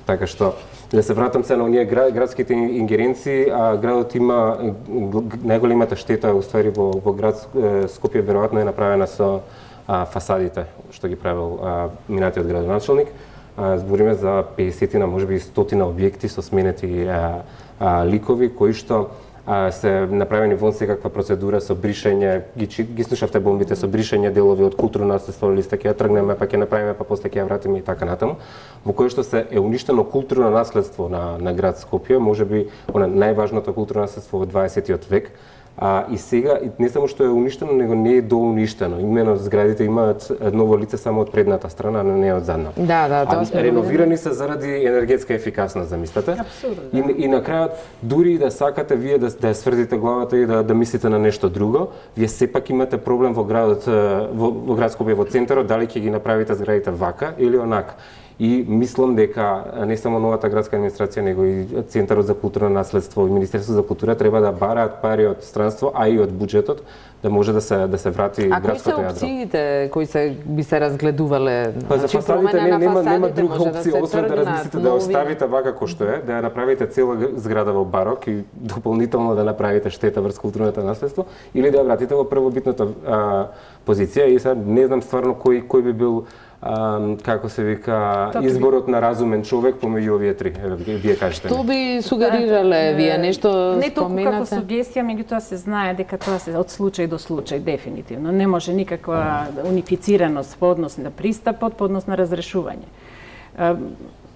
Така што да се вратам се на оние град, градските ингеренции, а градот има најголемата штета уствари во во град Скопје веројатно е направена со а, фасадите што ги правил а, минатиот градоначалник. А, збориме за педесетина, можеби стотина објекти со сменети а, а, ликови кои што а, се направени во секаква процедура со бришење, ги, ги слушавте бомбите со бришење делови од културно наследство, или сте ќе ја тргнеме, па ќе направиме, па после ќе ја вратиме и така натаму, во кој што се е уништено културно наследство на, на град Скопје, можеби она најважното културно наследство во дваесетиот век. А, и сега, не само што е уништено, него не е доуништено. Имено зградите имаат ново лице само од предната страна, а не од задната. Да, да, тоа сме реновирани се заради енергетска ефикасност, замислете. Апсолутно. И, и на крајот, дури и да сакате вие да, да сврдите главата и да, да мислите на нешто друго, вие сепак имате проблем во градот, во, во град Скопје, во центарот, дали ќе ги направите зградите вака или онака. И мислам дека не само новата градска администрација, него и Центарот за културно наследство и Министерството за култура треба да бараат пари од странство, а и од буџетот, да може да се да се врати а градското јадро. А кои се опциите кои се би се разгледувале? Па за фасадите не, нема нема друга опција да освен да размислите да оставите вака кој што е, да ја направите цела зграда во барок и дополнително да направите штета врз културното наследство, или да ја вратите во првобитната а, позиција. И сега не знам стварно кој кој би бил а, како се вика, Тоа изборот на разумен човек помеѓу овие три. Еве, вие кажете. Што би сугерирале вие, нешто не толку како споменате? сугестија, меѓутоа се знае дека тоа се од случај до случај дефинитивно. Не може никаква унифицираност по однос на пристапот, по однос на разрешување.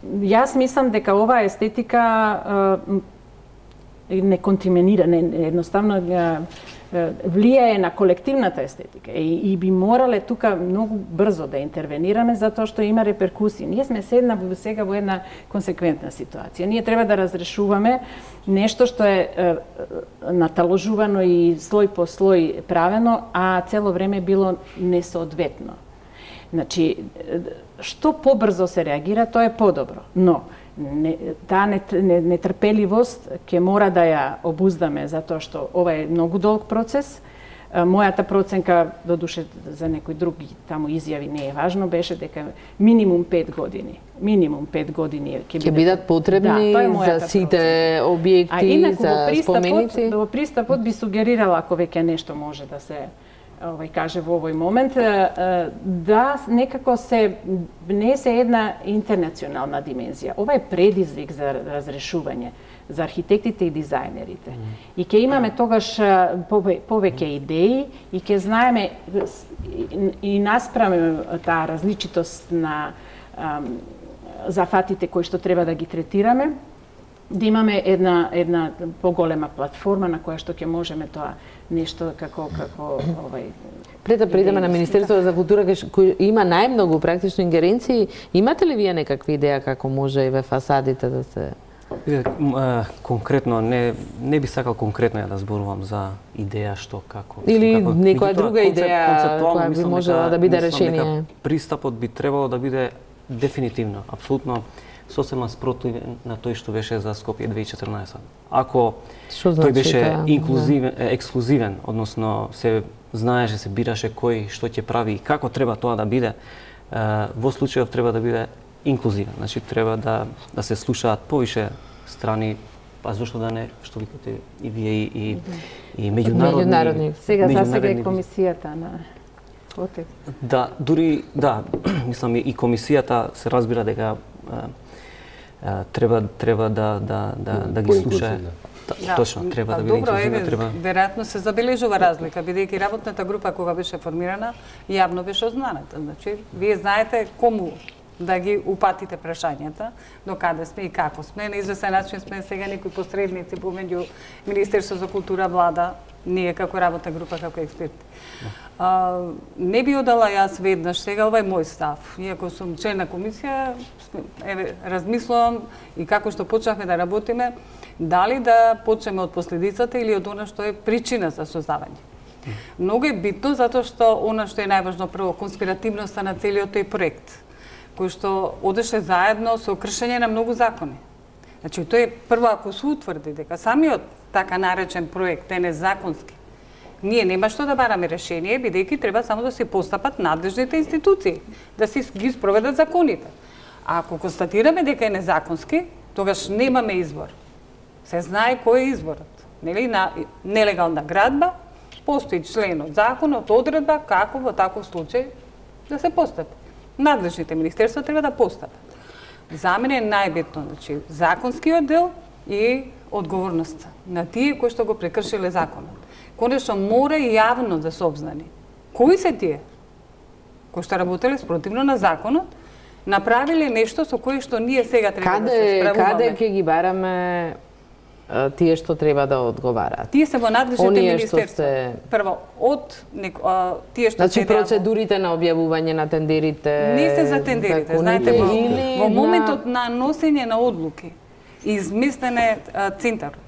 Јас мислам дека оваа естетика не контаминира, не едноставно влијае на колективната естетика и, и би морале тука многу брзо да интервенираме затоа што има реперкусии. Ние сме седна сега во една консеквентна ситуација. Ние треба да разрешуваме нешто што е, е наталожувано и слој по слој правено, а цело време било несоодветно. Значи, што побрзо се реагира, тоа е подобро. Но не, таа нетрпеливост ќе мора да ја обуздаме, затоа што ова е многу долг процес. Мојата проценка, додуше за некои други таму изјави не е важно, беше дека минимум пет години. Минимум пет години ќе бидат, бидат потребни да, за сите објекти, а инаку, за споменици. Во пристапот би сугерирала, ако веќе нешто може да се овај каже во овој момент, да некако се внесе една интернационална димензија. Ова е предизвик за разрешување за архитектите и дизајнерите. И ќе имаме тогаш повеќе идеи и ќе знаеме и наспраме таа различитост на зафатите кои што треба да ги третираме, да имаме една една поголема платформа на која што ќе можеме тоа нешто како како овај Пред да придеме на Министерството за култура кој има најмногу практично ингеренции, имате ли вие некакви идеја како може и ве фасадите да се конкретно не не би сакал конкретно ја да зборувам за идеја што како или како, некоја друга идеја која би можела да биде решение. Пристапот би требало да биде дефинитивно, апсолутно сосема спротивен на тој што беше за Скопје две илјади и четрнаесет. Ако значи, тој беше да, инклузивен, да. ексклузивен, односно се знаеше, се бираше кој што ќе прави и како треба тоа да биде, во случајов треба да биде инклузивен. Значи треба да да се слушаат повише страни, па зошто да не, што викате и вие и и, и меѓународни. меѓународни. Сега за сега е комисијата на ОТЕК. Да, дури да, мислам и комисијата се разбира дека треба треба да да да да ги слуша. Да, точно, треба да биде инклузивна, треба. Веројатно се забележува разлика, бидејќи работната група кога беше формирана, јавно беше ознаната. Значи, вие знаете кому да ги упатите прашањата, до каде сме и како сме. На известен начин сме сега некои посредници помеѓу Министерството за култура, влада, ние како работна група, како експерти. А, не би одала јас веднаш, сега ова е мој став. Иако сум член на комисија, еве, размислувам и како што почнавме да работиме, дали да почнеме од последицата или од она што е причина за создавање. Многу е битно, затоа што она што е најважно прво, конспиративноста на целиот тој проект, кој што одеше заедно со кршење на многу закони. Значи, тој е прво, ако се утврди дека самиот така наречен проект е незаконски, ние нема што да бараме решение, бидејќи треба само да се постапат надлежните институции, да се ги спроведат законите. А ако констатираме дека е незаконски, тогаш немаме избор. Се знае кој е изборот. Нели, на нелегална градба, постои член од законот, одредба како во таков случај да се постапи. Надлежните министерства треба да постапат. За мене е најбитно, значи, законскиот дел и одговорноста на тие кои што го прекршиле законот. Конечно мора и јавно да се обзнани. Кои се тие кои што работеле спротивно на законот, направиле нешто со кое што ние сега треба каде, да се справуваме. Каде ќе ги бараме тие што треба да одговараат? Тие се во надлежните Оние министерства. Се... Прво, од нек, а, тие што значи, се процедурите на објавување на тендерите... Не се за тендерите, знаете, во, или во моментот на... на носење на одлуки, изместене центарот.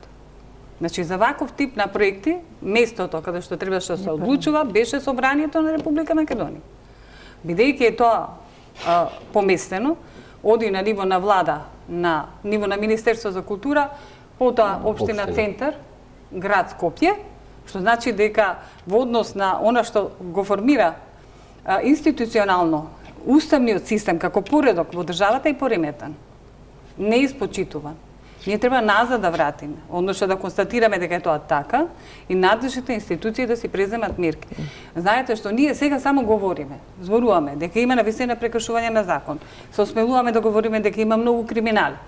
Значи, за ваков тип на проекти, местото каде што требаше да се одлучува, беше Собранието на Република Македонија. Бидејќи е тоа а, поместено, оди на ниво на влада, на ниво на Министерство за култура, потоа Општина Центар, град Скопје, што значи дека во однос на она што го формира а, институционално уставниот систем како поредок во државата е пореметан, не испочитуван. Ние треба назад да вратиме, односно да констатираме дека е тоа така и надлежните институции да си преземат мерки. Знаете што ние сега само говориме, зборуваме дека има навистина прекршување на закон. Се осмелуваме да говориме дека има многу криминали.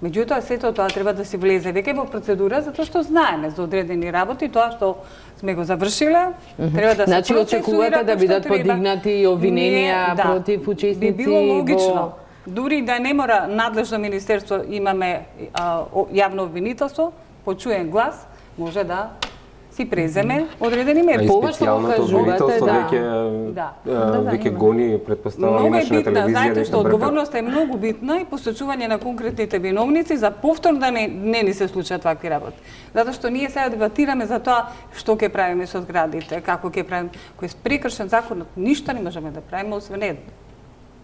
Меѓутоа сето тоа треба да си влезе веќе во процедура затоа што знаеме за одредени работи, тоа што сме го завршиле, треба да се значи, очекувате да бидат подигнати обвиненија да, против учесници би било логично. во... Дури да не мора надлежно министерство, имаме а, јавно обвинителство, почуен глас, може да си преземе одредени мерки. А и специјалното обвинителство да. веќе да. веќе гони, предпоставам, много имаше на телевизија. Знаете што одговорноста е многу битна и посочување на конкретните виновници за повторно да не, не ни се случат вакви работи. Затоа што ние сега дебатираме за тоа што ќе правиме со зградите, како ќе правиме, кој е прекршен законот, ништо не можеме да правиме освен едно.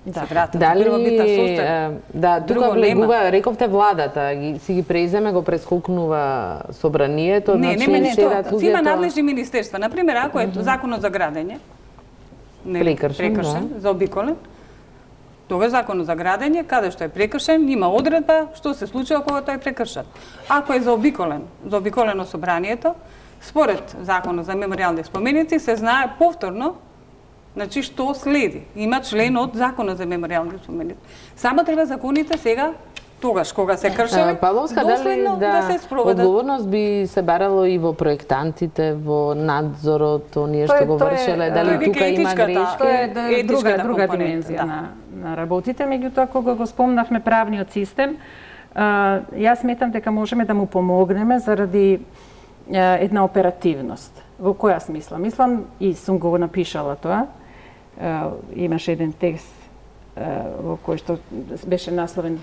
Да. Вратат, Дали, сустав, да, тука влегува, рековте владата, ги, си ги преземе, го прескокнува собранието, не, значи не, не, седат тоа, има надлежни министерства. Например, ако е uh -huh. законот за градење, не, прекршен, прекршен да. заобиколен, тога законот за градење, каде што е прекршен, има одредба што се случува кога тој е прекршен. Ако е заобиколен, заобиколено собранието, според законот за меморијални споменици се знае повторно. Значи, што следи? Има член од Законот за меморијални споменици. Само треба законите сега, тогаш, кога се кршеле, Павловска, доследно дали, да, да се спроведат. Одговорност би се барало и во проектантите, во надзорот, оние што го вршеле, дали тука има грешки? Тоа е да, друга, друга димензија да. на, на работите, меѓутоа кога го спомнавме правниот систем, а, јас сметам дека можеме да му помогнеме заради а, една оперативност. Во која смисла? Мислам, и сум го напишала тоа, Uh, имаше еден текст uh, во кој што беше насловен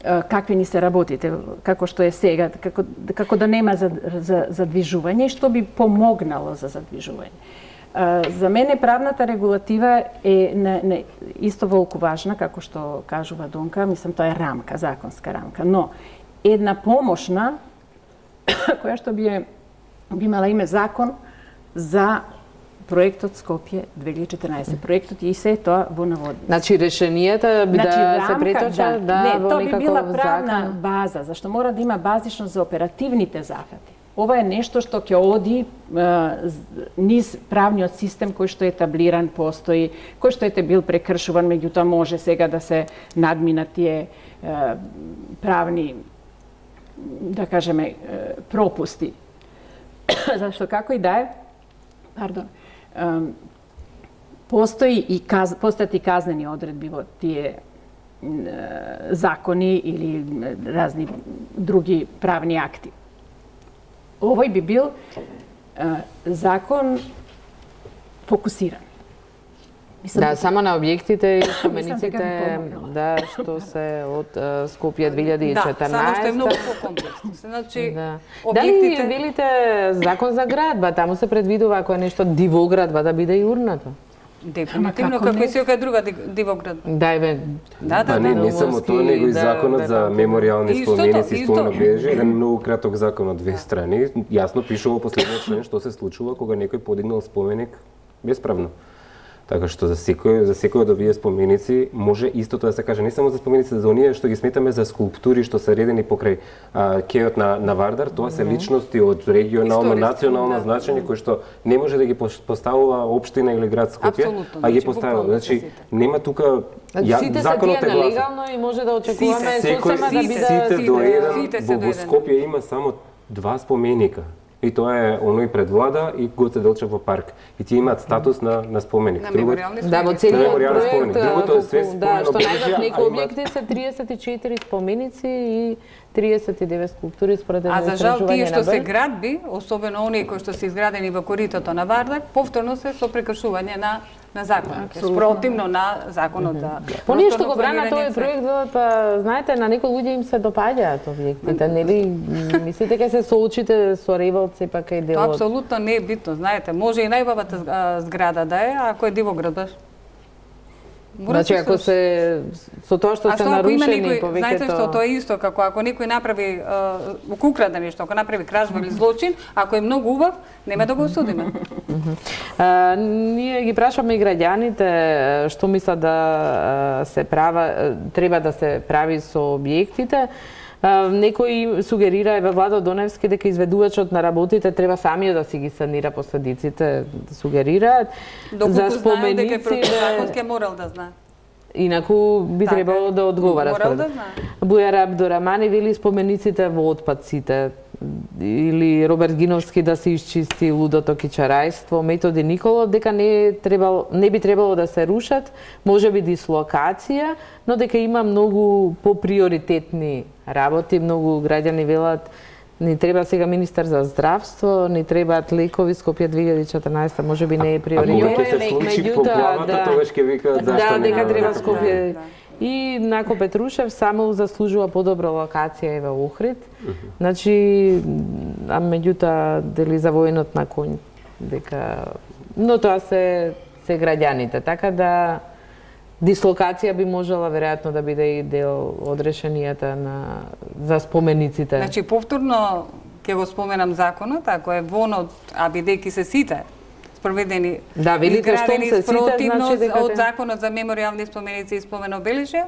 uh, какви ни се работите, како што е сега, како, како да нема за, за, задвижување и што би помогнало за задвижување. Uh, за мене правната регулатива е не, не, исто волку важна, како што кажува Донка, мислам тоа е рамка, законска рамка, но една помошна која што би, е, би имала име закон за проектот Скопје две илјади и четрнаесет. Проектот и се тоа во наводници. Значи решенијата би значи, да рамка, се преточат да, не, во тоа би била некаков правна закон. база, зашто мора да има базично за оперативните зафати. Ова е нешто што ќе оди е, низ правниот систем кој што е етаблиран, постои, кој што ете бил прекршуван, меѓутоа може сега да се надминат тие е, правни, да кажеме, е, пропусти. Зашто како и да е, пардон, постои и каз, постојат и казнени одредби во тие закони или разни други правни акти. Овој би бил закон фокусиран. Мислам, да, само на објектите и спомениците да, што се од Скопје две илјади и четрнаесет. Да, само што е многу покомплексно. Значи, да. објектите... Дали велите закон за градба, таму се предвидува ако е нешто дивоградба да биде и урнато? Дефинитивно, како и секоја друга дивоградба. Да, бе. Да, да, а не, не само тоа, него и законот за меморијални споменици и спомено обележје, еден многу краток закон од две страни, јасно пишува последниот член што се случува кога некој подигнал споменик бесправно. Така што за секој за секој од овие споменици може истото да се каже, не само за споменици, за оние што ги сметаме за скулптури што се редени покрај а, кејот на на Вардар, тоа се личности од регионално, национално да, значење кои што не може да ги поставува општина или град Скопје, а ги поставува. Значи нема тука ја, сите законот е нелегално и може да очекуваме сосема да биде сите до еден во Скопје има само два споменика. И тоа е оној пред влада и Гоце Делчев парк. И тие имаат статус на на споменик. На меморијални споменици. Да, во целиот проект, другото е све да, што најдат некои објекти се триесет и четири споменици и триесет и девет скулптури според едно истражување. А за жал тие што се Б. градби, особено оние кои што се изградени во коритото на Вардар, повторно се со прекршување на на законот, спротивно на законот за Поние што го брана тој проект, па знаете, на некои луѓе им се допаѓаат објектите, нели? Мислите ке се соочите со револт сепак е дел од... Тоа апсолутно не е битно, знаете, може и најубавата зграда да е, ако е дивоградба. Значи ако се со тоа што се нарушени повеќето... Знаете што, тоа е исто како ако некој направи ако украде нешто, ако направи кражба или злочин, ако е многу убав, нема да го осудиме. Ние ги прашаме и граѓаните што мислат да се права, треба да се прави со објектите. Некој сугерира еве Владо Доневски дека изведувачот на работите треба самиот да си ги санира последиците, сугерираат. За споменици дека противзаконски морал да знае. Инаку би така, требало да одговара. Морал да знае. Бујар Абдурамани вели спомениците во отпадците. Или Роберт Гиновски да се исчисти лудото кичарајство, Методи Николов дека не требало, не би требало да се рушат, можеби дислокација, но дека има многу поприоритетни работи, многу граѓани велат ни треба сега министар за здравство, ни требаат лекови, Скопје две илјади и четрнаесета можеби не е приоритет. Ако ќе се случи поплавата, тогаш ќе викаат зашто да, не. дека треба Скопје. И Нако Петрушев само заслужува подобра локација и во Охрид. Значи, а меѓутоа дели за военот на конј, дека но тоа се се граѓаните, така да дислокација би можела веројатно да биде и дел од решенијата на за спомениците. Значи повторно ќе го споменам законот, ако е вонот, а бидејќи се сите спроведени да, велите што се сите, значи дека од законот за меморијални споменици и спомен обележја,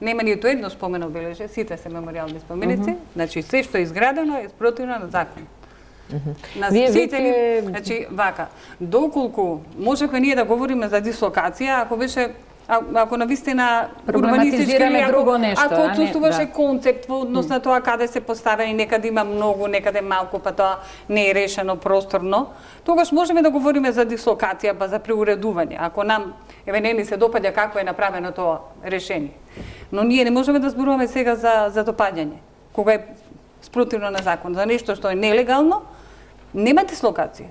нема ниту едно спомен обележје, сите се меморијални споменици, uh -huh. значи се што е изградено е спротивно на закон. Uh -huh. На Вие сите веќе... ни, значи вака, доколку можеме ние да говориме за дислокација, ако беше А, ако навистина урбанистички или ако, друго нешто, ако отсутствуваше да. концепт во однос на тоа каде се поставени, некаде има многу, некаде малку, па тоа не е решено просторно, тогаш можеме да говориме за дислокација, па за преуредување. Ако нам еве не ни се допаѓа како е направено тоа решение. Но ние не можеме да зборуваме сега за за допаѓање, кога е спротивно на закон, за нешто што е нелегално. Нема дислокација.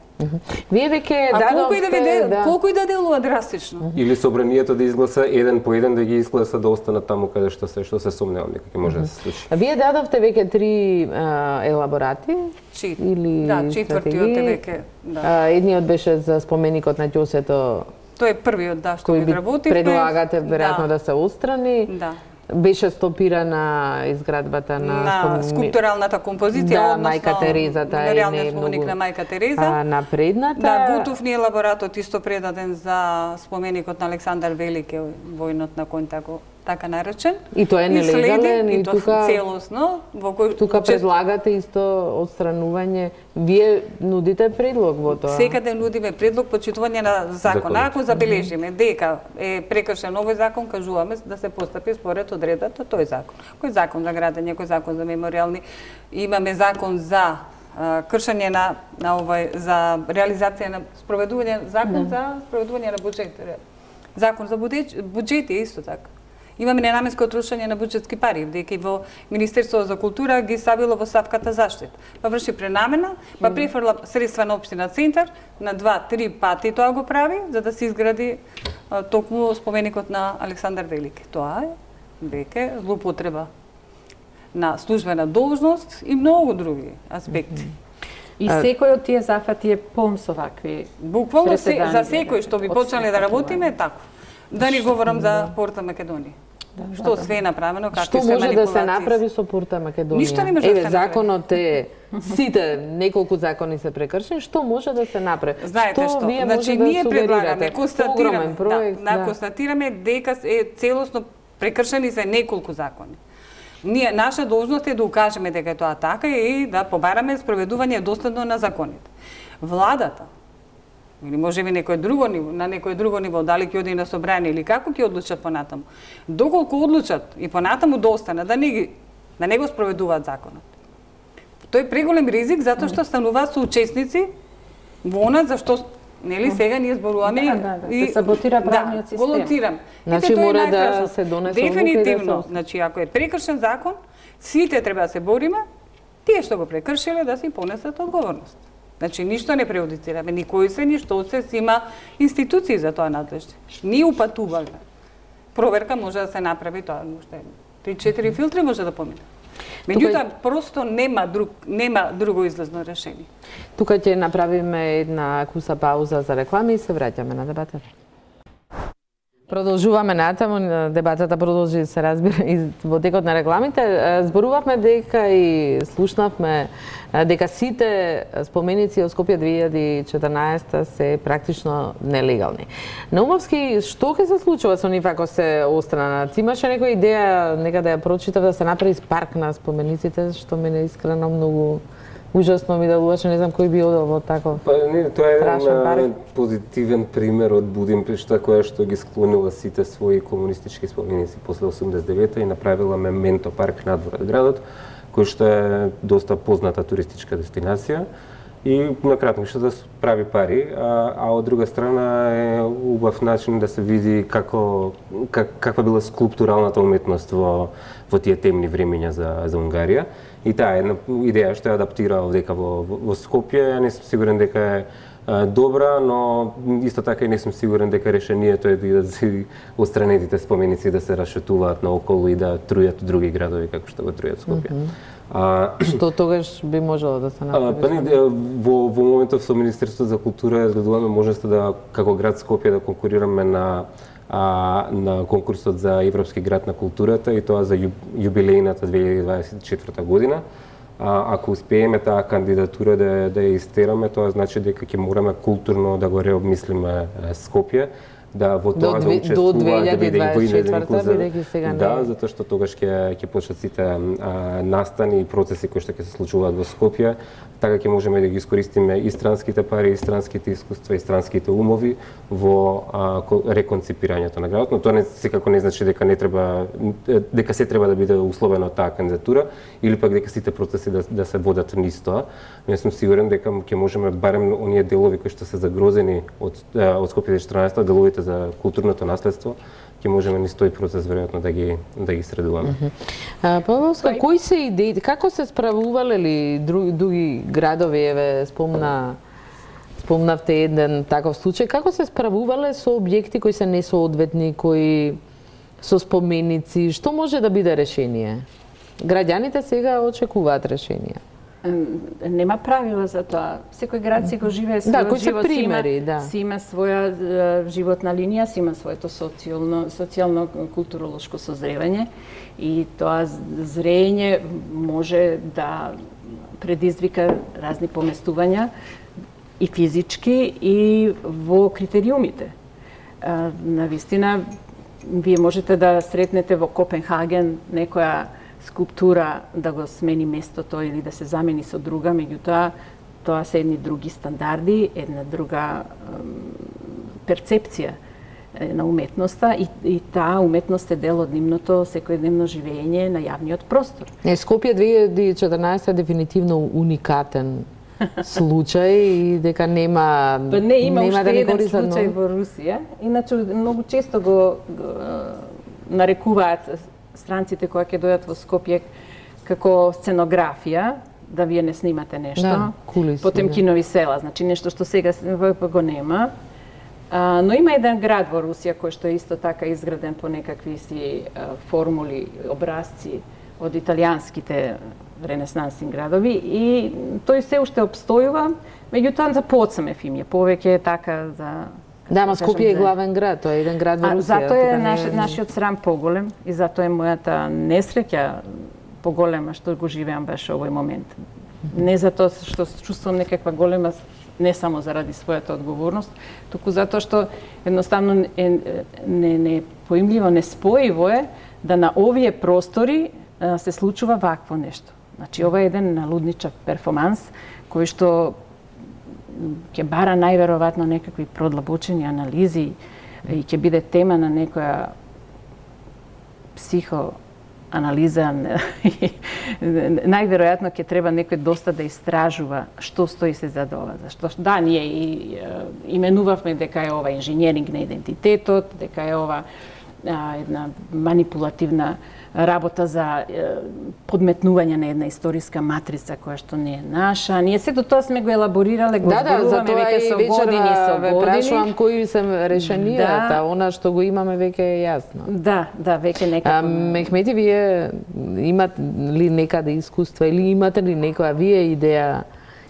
Вие веќе дадовте... А колку и да веде, да. колку и да делува драстично. Или собранието да изгласа еден по еден да ги изгласа да останат таму каде што се што се сомневам дека ќе може да се случи. А вие дадовте веќе три а, елаборати Чит. или да, четвртиот е веќе, да. А, едниот беше за споменикот на Ѓосето. Тој е првиот да што ги работивме. Предлагате веројатно да. да се устрани. Да. Беше стопирана изградбата на, на скулптуралната композиција, да, односно Мајка Терезата е не споменик на Мајка Тереза. А, напредната. Да, готов ни елаборатот исто предаден за споменикот на Александар Велики, војнот на конј тако така наречен. И тоа е нелегален и, и тука целосно во кој тука предлагате исто одстранување. Вие нудите предлог во тоа. Секаде нудиме предлог почитување на закон. Ако забележиме дека е прекршен овој закон, кажуваме да се постапи според одредбата тој закон. Кој закон за градење, кој закон за меморијални, имаме закон за а, кршење на на овој за реализација на спроведување закон да. за спроведување на буџет. Закон за буџети исто така. Имаме ненаменско трошење на буџетски пари, дека во Министерството за култура ги ставило во ставката заштит. Па врши пренамена, па префрла средства на општина Центар, на два-три пати тоа го прави, за да се изгради а, токму споменикот на Александар Велики. Тоа е веќе злоупотреба на службена должност и многу други аспекти. И секој од тие зафати е полн со вакви. Буквално се, за секој што би почнале да работиме тако. Да не говорам за Порта Македонија. Да, што да, све е направено, какви се манипулации. Што може да се направи со Порта Македонија? Ништо не може Еве, да се направи. законот е, сите, неколку закони се прекршени, што може да се направи? Знаете што, што вие значи може ние да предлагаме, констатираме, проект, да, да. констатираме дека е целосно прекршени се неколку закони. Ние, наша должност е да укажеме дека е тоа така и да побараме спроведување доследно на законите. Владата, или може би некој друго ниво, на некој друго ниво, дали ќе оди на собрание или како ќе одлучат понатаму. Доколку одлучат и понатаму да остана, да не, ги, да не го спроведуваат законот. Тој е преголем ризик затоа што стануваат соучесници во она за што нели сега ние зборуваме да, да, да, и се саботира правниот да, систем. Го лоцирам. Значи мора да се донесе дефинитивно, да се... значи ако е прекршен закон, сите треба да се бориме, тие што го прекршиле да си понесат одговорност. Значи, ништо не преодицираме, никој се, ништо се има институции за тоа надлежни. Ние упатуваме. Проверка може да се направи тоа, уште три-четири филтри може да помине. Меѓутоа, просто нема, друг, нема друго излезно решение. Тука ќе направиме една куса пауза за реклами и се враќаме на дебатата. Продолжуваме натаму, дебатата продолжи, се разбира, и во текот на рекламите. Зборувавме дека и слушнавме дека сите споменици од Скопје две илјади и четрнаесетта се практично нелегални. Наумовски, што ќе се случува со нив ако се останат? Имаше некоја идеја, нека да ја прочитав, да се направи парк на спомениците, што мене искрено многу ужасно ми делуваше, не знам кој би одел во таков. Па не, тоа е еден позитивен пример од Будимпешта која што ги склонила сите своји комунистички споменици после осумдесет и девета и направила мементо парк надвор од градот, кој што е доста позната туристичка дестинација и на кратко што да прави пари, а, а од друга страна е убав начин да се види како как, каква била скулптуралната уметност во во тие темни времења за за Унгарија. И таа е една идеја што ја адаптира овдека во, во Скопје, ја не сум сигурен дека е а, добра, но исто така и не сум сигурен дека решението е да се отстранетите споменици да се расшетуваат наоколу и да трујат други градови како што го трујат Скопје. Mm -hmm. А, што тогаш би можело да се направи? Па не, во, во моментов со Министерството за култура изгледуваме можноста да како град Скопје да конкурираме на а, на конкурсот за Европски град на културата и тоа за јубилејната две илјади дваесет и четврта година. А, ако успееме таа кандидатура да, да ја истераме, тоа значи дека ќе мораме културно да го реобмислиме Скопје, да во тоа да учествува до две илјади дваесет и четврта бидејќи сега не. Да, затоа што тогаш ќе ќе почнат сите а, настани и процеси кои што ќе се случуваат во Скопје, така ќе можеме да ги искористиме и странските пари, и странските искуства, и странските умови во а, реконципирањето на градот, но тоа не секако не значи дека не треба дека се треба да биде условено таа кандидатура или пак дека сите процеси да, да се водат низ тоа. Но јас сум сигурен дека ќе можеме барем оние делови кои што се загрозени од од Скопје две илјади и четрнаесетта, деловите за културното наследство, ќе можеме низ тој процес веројатно да ги да ги средуваме. Mm -hmm. Павловска, кои се идеите? Како се справувале ли други, други градови? Еве спомна спомнавте еден таков случај. Како се справувале со објекти кои се несоодветни, кои со споменици? Што може да биде решение? Граѓаните сега очекуваат решение. Нема правила за тоа. Секој град си го живее својот да, кои живот, се примери, си има, да. си има своја uh, животна линија, си има своето социјално, социјално културолошко созревање и тоа зрење може да предизвика разни поместувања и физички и во критериумите. Uh, навистина, вие можете да сретнете во Копенхаген некоја скулптура да го смени местото или да се замени со друга, меѓутоа тоа се едни други стандарди, една друга перцепција на уметноста и, и таа уметност е дел од нивното секојдневно живење на јавниот простор. Е, Скопје две илјади и четрнаесетта е дефинитивно уникатен случај и дека нема па не има нема уште да еден случај во Русија. Иначе многу често го, го нарекуваат странците кои ќе дојдат во Скопје како сценографија, да вие не снимате нешто. Да, кулиси, Потемкинови села, значи нешто што сега го нема. А, но има еден град во Русија кој што е исто така изграден по некакви си а, формули, образци од италијанските ренесансни градови и тој се уште обстојува, меѓутоа за подсамев им е повеќе е така за да, ма Скопје е главен град, тоа е еден град во Русија. Затоа е наш, не... нашиот срам поголем и затоа е мојата несреќа поголема што го живеам баш овој момент. Не затоа што чувствувам некаква голема, не само заради својата одговорност, туку затоа што едноставно е не, не поимливо, неспоиво е да на овие простори а, се случува вакво нешто. Значи ова е еден налудничав перформанс кој што ќе бара најверојатно некакви продлабочени анализи и ќе биде тема на некоја психоанализа. Најверојатно ќе треба некој доста да истражува што стои се зад ова. Зашто да, ние и именувавме дека е ова инженеринг на идентитетот, дека е ова а, една манипулативна работа за е, подметнување на една историска матрица која што не е наша. Ние сето тоа сме го елаборирале, го да, да, зборуваме веќе со години со години. Да, прашувам кои се решенијата, да. Она што го имаме веќе е јасно. Да, да, веќе некако. Мехмети, вие имате ли некаде искуства или имате ли некоја вие идеја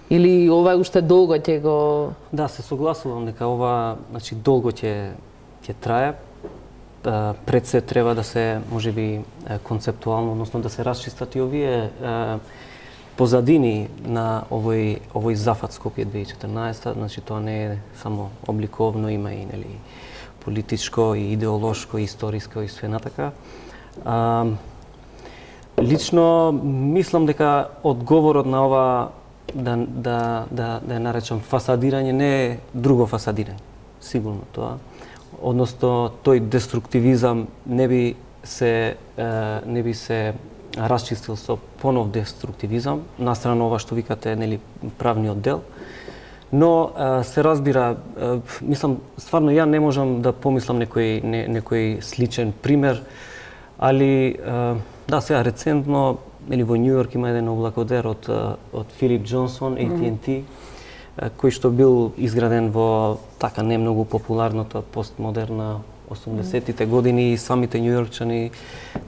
или ова уште долго ќе го... Да, се согласувам дека ова, значи, долго ќе ќе трае. пред се треба да се можеби концептуално, односно да се расчистат и овие позадини на овој овој зафат Скопје две тисячи и четрнаесетта, значи тоа не е само обликовно, има и нели политичко и идеолошко и историско и све натака. А, лично мислам дека одговорот на ова да да да да ја наречам фасадирање не е друго фасадирање. Сигурно тоа. Односно тој деструктивизам не би се не би се расчистил со понов деструктивизам, настрана ова што викате, нели, правниот дел. Но се разбира, мислам, стварно ја не можам да помислам некој не, некој сличен пример, али да, сега рецентно, или во Њу Јорк има еден облакодер од од Филип Џонсон, ей ти енд ти, кој што бил изграден во така не многу популарната постмодерна осумдесеттите години, и самите њујоркчани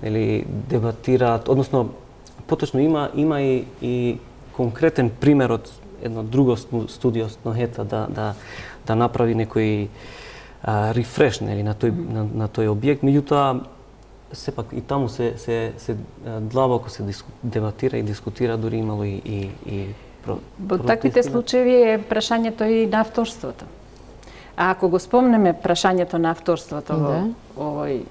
нели дебатираат, односно поточно има има и, и конкретен пример од едно друго студио Снохета да да да направи некој рефреш нели на тој на, на тој објект, меѓутоа сепак и таму се се се длабоко се диску, дебатира и дискутира, дури имало и и, и про, во таквите случаи е прашањето и на авторството. А ако го спомнеме прашањето на авторството во овој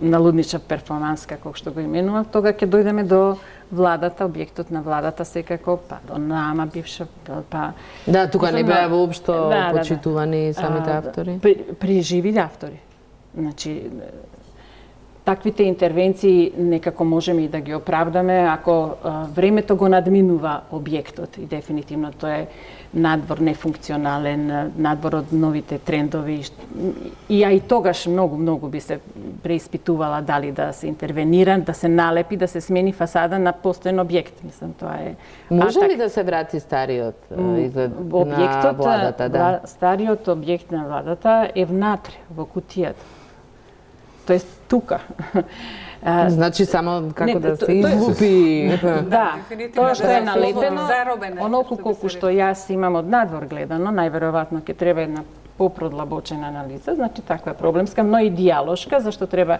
налудничав перформанс, како што го именував, тога ќе дојдеме до владата, објектот на владата секако, па до нама бивша, па... Да, тука не беа воопшто да, почитувани да, да. самите автори. При, при живи автори. Значи, таквите интервенции некако можеме и да ги оправдаме ако а, времето го надминува објектот, и дефинитивно тоа е надвор нефункционален, надвор од новите трендови, и ја и тогаш многу многу би се преиспитувала дали да се интервенира, да се налепи, да се смени фасада на постоен објект. Мислам, тоа е... Може ли да се врати стариот изглед на владата? Да. Стариот објект на владата е внатре, во кутијата. Тоест тука. Значи само како не, да се излупи. Да, тоа што е налепено, онолку колку што јас имам од надвор гледано, најверојатно ќе треба една попродлабочена анализа, значи таква е проблемска, но и диалошка, зашто треба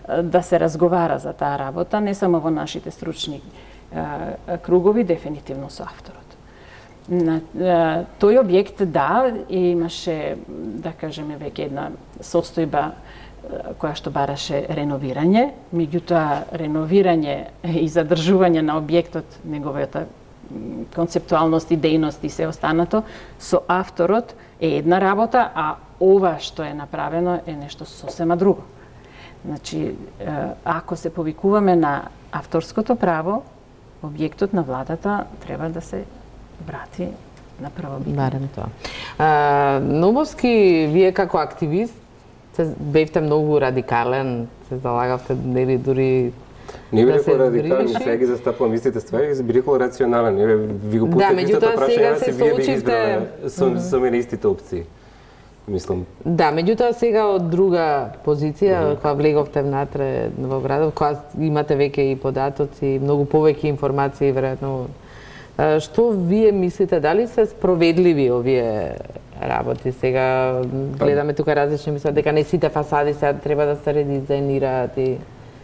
да се разговара за таа работа, не само во нашите стручни кругови, дефинитивно со авторот. На тој објект, да, имаше, да кажеме, веќе една состојба која што бараше реновирање, меѓутоа реновирање и задржување на објектот, неговата концептуалност, идејност и се останато, со авторот е една работа, а ова што е направено е нешто сосема друго. Значи, ако се повикуваме на авторското право, објектот на владата треба да се врати на првобитно. Барем тоа. А, Нобовски, вие како активист, се бевте многу радикален, се залагавте нели дури не да бил радикален, сега ги застапувам истите ствари, бил рационален. Ви го пуштев истото прашање, се вие би избрале со, со мене истите опции. Мислам. Да, меѓутоа сега од друга позиција, mm-hmm. кога влеговте внатре во градот, кога имате веќе и податоци, многу повеќе информации, веројатно. Што вие мислите, дали се спроведливи овие работи? Сега гледаме тука различни мислат дека не сите фасади сега треба да се редизајнираат и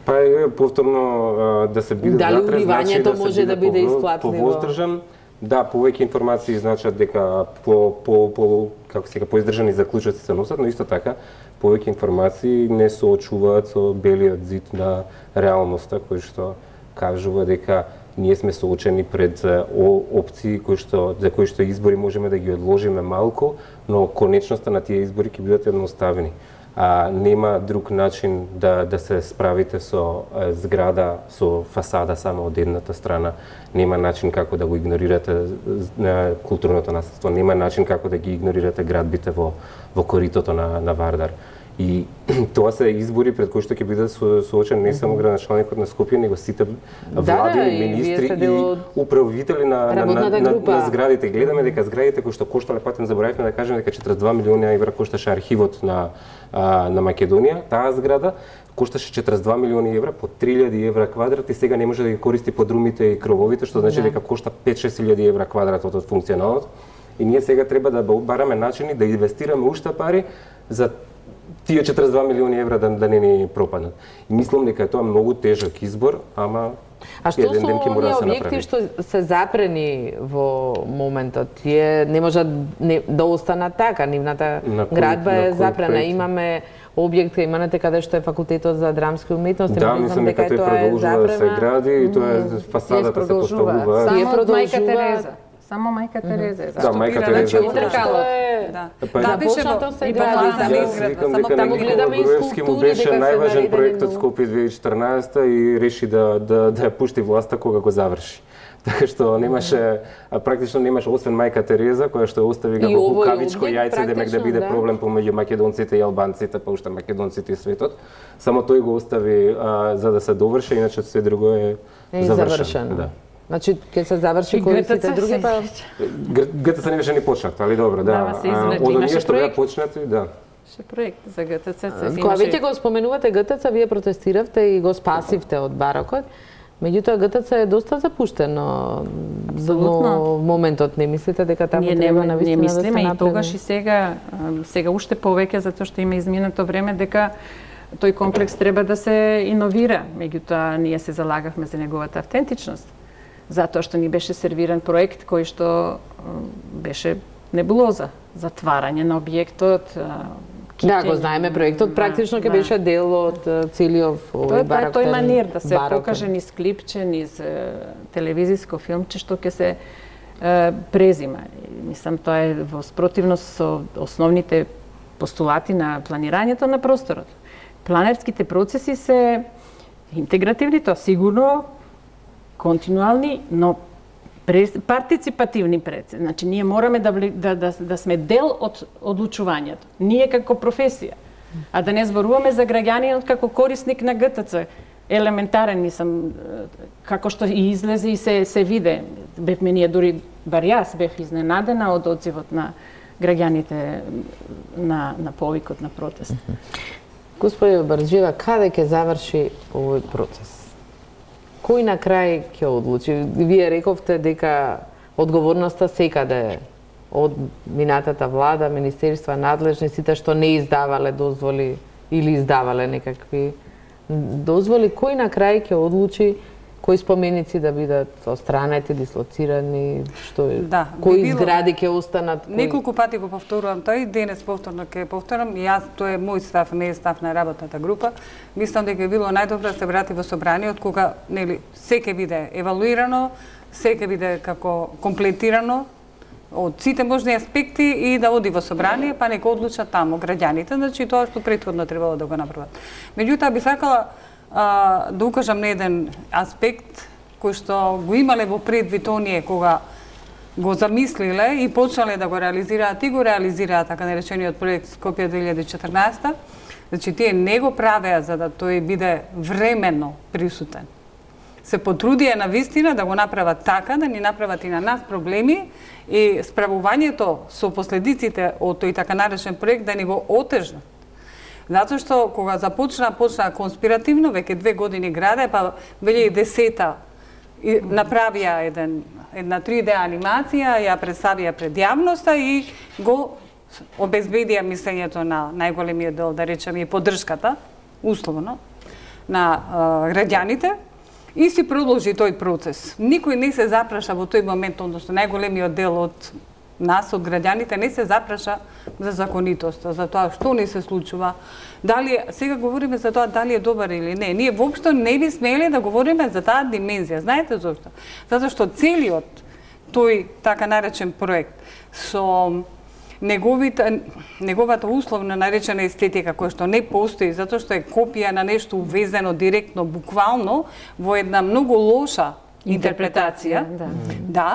па е повторно да се биде дали внатре, значи уливањето да може да биде исплатливо? Повоздржан, да, повеќе информации значат дека по по по како сега поиздржани заклучоци се носат, но исто така повеќе информации не соочуваат со белиот зид на реалноста кој што кажува дека ние сме соочени пред опции кои што за кои што избори можеме да ги одложиме малку, но конечноста на тие избори ќе бидат едноставени. А нема друг начин да да се справите со зграда со фасада само од едната страна. Нема начин како да го игнорирате културното наследство, нема начин како да ги игнорирате градбите во во коритото на на Вардар. И тоа се избори пред кои што ќе бидат соочен не само градоначалникот на Скопје, него сите влади, да, министри и, и управители на, на, на, на, на зградите. Гледаме дека зградите кои што коштале, патен заборавивме да кажеме дека четиридесет и два милиони евра кошташе архивот на а, на Македонија, таа зграда кошташе четиридесет и два милиони евра по три илјади евра квадрат и сега не може да ги користи подрумите и крововите, што значи дека кошта пет-шест илјади евра квадратот од функционалот. И ние сега треба да бараме начини да инвестираме уште пари за тие четиридесет и два милиони евра да, да не ни пропаднат. И мислам дека е тоа многу тежок избор, ама А што со оние објекти што се запрени во моментот? Тие не можат не, да останат така, нивната градба е запрена. Имаме објект кај имате каде што е факултетот за драмски уметности, да, мислам дека тој продолжува да се гради и тоа е фасадата се поставува. Само од Мајка Тереза. Само Мајка Тереза е да, Мајка Тереза. Да, да, започнато се гради. Викам дека на Никола Груевски му беше најважен проектот Скопје две илјади и четрнаесета и реши да да да ја пушти власта кога го заврши. Така што немаше, практично немаше освен Мајка Тереза, која што остави ga во кукавичко јајце, демек да биде проблем помеѓу македонците и албанците, па уште македонците и светот. Само тој го остави а, за да се доврши, иначе се друго е, е завршено. Да. Значи, ќе се заврши кои сите други, па... ГТЦ не беше ни почнат, али добро, да. Од оние што беа почнати, да. Ше проект за ГТЦ. Кога веќе го споменувате ГТЦ, вие протестиравте и го спасивте од барокот. Меѓутоа ГТЦ е доста запуштено. Во моментот не мислите дека таму треба на вистина да се направи? Не мислиме и тогаш и сега, сега уште повеќе затоа што има изминато време дека тој комплекс треба да се иновира. Меѓутоа ние се залагавме за неговата автентичност. Затоа што ни беше сервиран проект кој што беше небулоза, затварање на објектот. Да, го знаеме проектот, практично ќе беше дел од целиот овој бароктен. Тој манир да се покаже низ клипче, низ телевизиско филмче што ќе се презима. Мислам, тоа е во спротивност со основните постулати на планирањето на просторот. Планерските процеси се интегративни, тоа сигурно, континуални, но партиципативни процеси. Значи, ние мораме да, да, да, да сме дел од одлучувањето. Ние како професија. А да не зборуваме за граѓанинот како корисник на ГТЦ. Елементарен, мислам, како што и излезе и се, се виде. Бевме ние, дури, бар јас бев изненадена од одзивот на граѓаните на, на повикот на протест. Господи Барџиева, каде ќе заврши овој процес? Кој на крај ќе одлучи? Вие рековте дека одговорноста секаде од минатата влада, министерства, надлежни, сите што не издавале дозволи или издавале некакви дозволи, кој на крај ќе одлучи кои споменици да бидат отстранети, дислоцирани, што е, да, кои згради ќе останат? Кои... Неколку пати го повторувам тој, денес повторно ќе повторам, јас тоа е мој став, не е став на работната група. Мислам дека било најдобро да се врати во собраниот кога нели се ќе биде евалуирано, се ќе биде како комплетирано од сите можни аспекти и да оди во собрание, па нека одлучат таму граѓаните, значи тоа што претходно требало да го направат. Меѓутоа би сакала а, да укажам на еден аспект кој што го имале во предвид оние кога го замислиле и почнале да го реализираат и го реализираат така наречениот проект Скопје две илјади и четрнаесета. Значи тие не го правеа за да тој биде временно присутен. Се потрудија на вистина да го направат така, да ни направат и на нас проблеми и справувањето со последиците од тој така наречен проект да ни го отежнат. Затоа што кога започна, почна конспиративно, веќе две години граде, па две илјади и десета направија еден, една три де анимација, ја представија пред јавноста и го обезбедија мислењето на најголемиот дел, да речеме, и поддршката, условно, на а, граѓаните, и си продолжи тој процес. Никој не се запраша во тој момент, односно најголемиот дел од нас, од граѓаните, не се запраша за законитоста, за тоа што не се случува. Дали, сега говориме за тоа дали е добар или не. Ние воопшто не би смели да говориме за таа димензија. Знаете зошто? Затоа што целиот тој така наречен проект со неговите, неговата условно наречена естетика која што не постои, затоа што е копија на нешто увезено директно, буквално, во една многу лоша интерпретација, да, да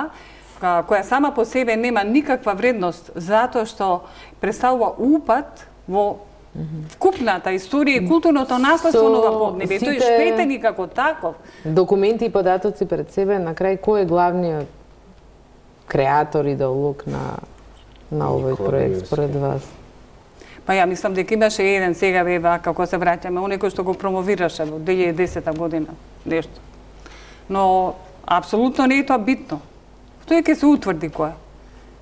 која сама по себе нема никаква вредност, затоа што представува упат во вкупната историја и културното наследство на ова поднебие. Тој е штетен и како таков. Документи и податоци пред себе, на крај кој е главниот креатор, идеолог на на овој проект според вас? Па ја мислам дека имаше еден сега вева како се враќаме, оној кој што го промовираше во две илјади и десета година нешто. Но апсолутно не е тоа битно. Тој ќе се утврди кој.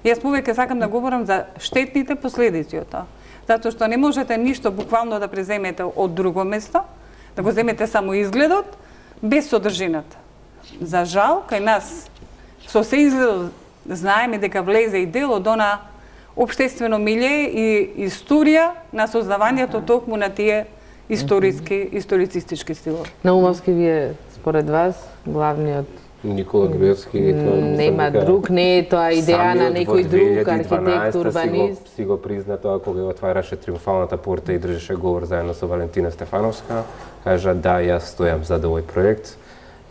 Јас повеќе сакам да говорам за штетните последици од тоа. затоа што не можете ништо буквално да преземете од друго место, да го земете само изгледот, без содржината. За жал, кај нас, со се изгледот, знаеме дека влезе и дел од она општествено милје и историја на создавањето токму на тие историски, историцистички стилови. Наумовски, вие, според вас, главниот Никола Груевски, нема друг, не е тоа идеја на некој друг архитект, урбанист. Си го призна тоа кога отвараше Триумфалната порта и држеше говор заедно со Валентина Стефановска, кажа да, јас стојам за овој проект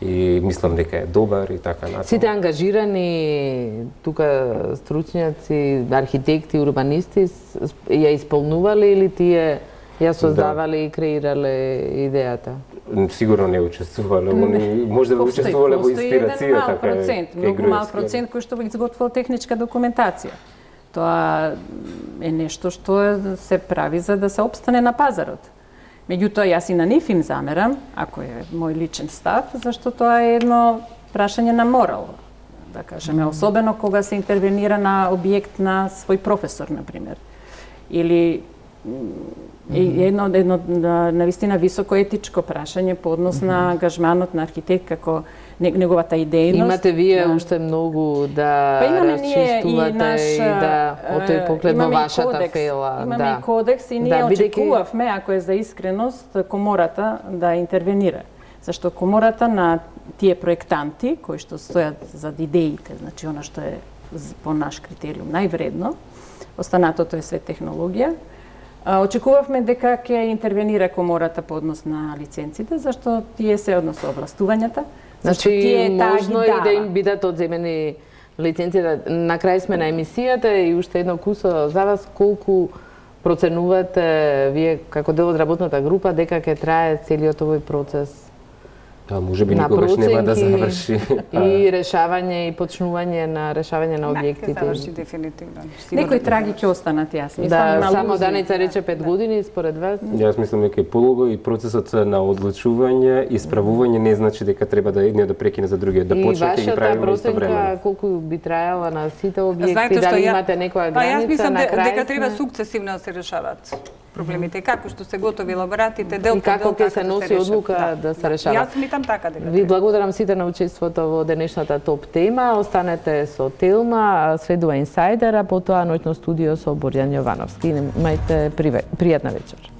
и мислам дека е добар и така натаму. Сите ангажирани тука стручњаци, архитекти, урбанисти ја исполнувале или тие ја создавале и креирале идејата? Сигурно не учествувале, они може да учествувале во инспирацијата кај процент, многу мал процент кој што изготвил техничка документација. Тоа е нешто што се прави за да се опстане на пазарот. Меѓутоа, јас и на нив им замерам, ако е мој личен став, зашто тоа е едно прашање на морал, да кажеме, особено кога се интервенира на објект на свој професор, например. Или едно, едно навистина високо етичко прашање по однос на ангажманот на архитект како неговата идејност. Имате вие да. уште многу да па расчистувате и, наш, и да од тој поглед во вашата кодекс, фела. Имаме да. и кодекс и ние да, очекувавме, ако е за искреност, комората да интервенира. Зашто комората на тие проектанти кои што стојат зад идеите, значи она што е по наш критериум највредно, останатото е све технологија. Очекувавме дека ќе интервенира комората по однос на лиценците, зашто тие се однос овластувањата. Значи, можно и да им бидат одземени лиценците. На крај сме на емисијата и уште едно кусо за вас, колку проценувате вие како дел од работната група дека ќе трае целиот овој процес? Да, може би никогаш нема да заврши. И решавање и почнување на решавање на објектите. Не, ќе заврши дефинитивно. Некои траги ќе останат, јас мислам. Да, само Даница рече пет години, според вас? Јас мислам дека е полого и процесот на одлучување и справување не значи дека треба да едниот да прекине за другиот, да почне и ги правиме истовремено. И вашата проценка колку би траела на сите објекти, дали имате некоја граница на крај? Па јас мислам дека треба сукцесивно да се решаваат проблемите, како што се готови лаборатите, дел по дел. И како ќе се носи одлука да се решава? Јас мислам така дека. Ви благодарам сите на учеството во денешната топ тема. Останете со Телма, следува Инсайдер, а потоа ноќно студио со Борјан Јовановски. Имајте пријатна вечер.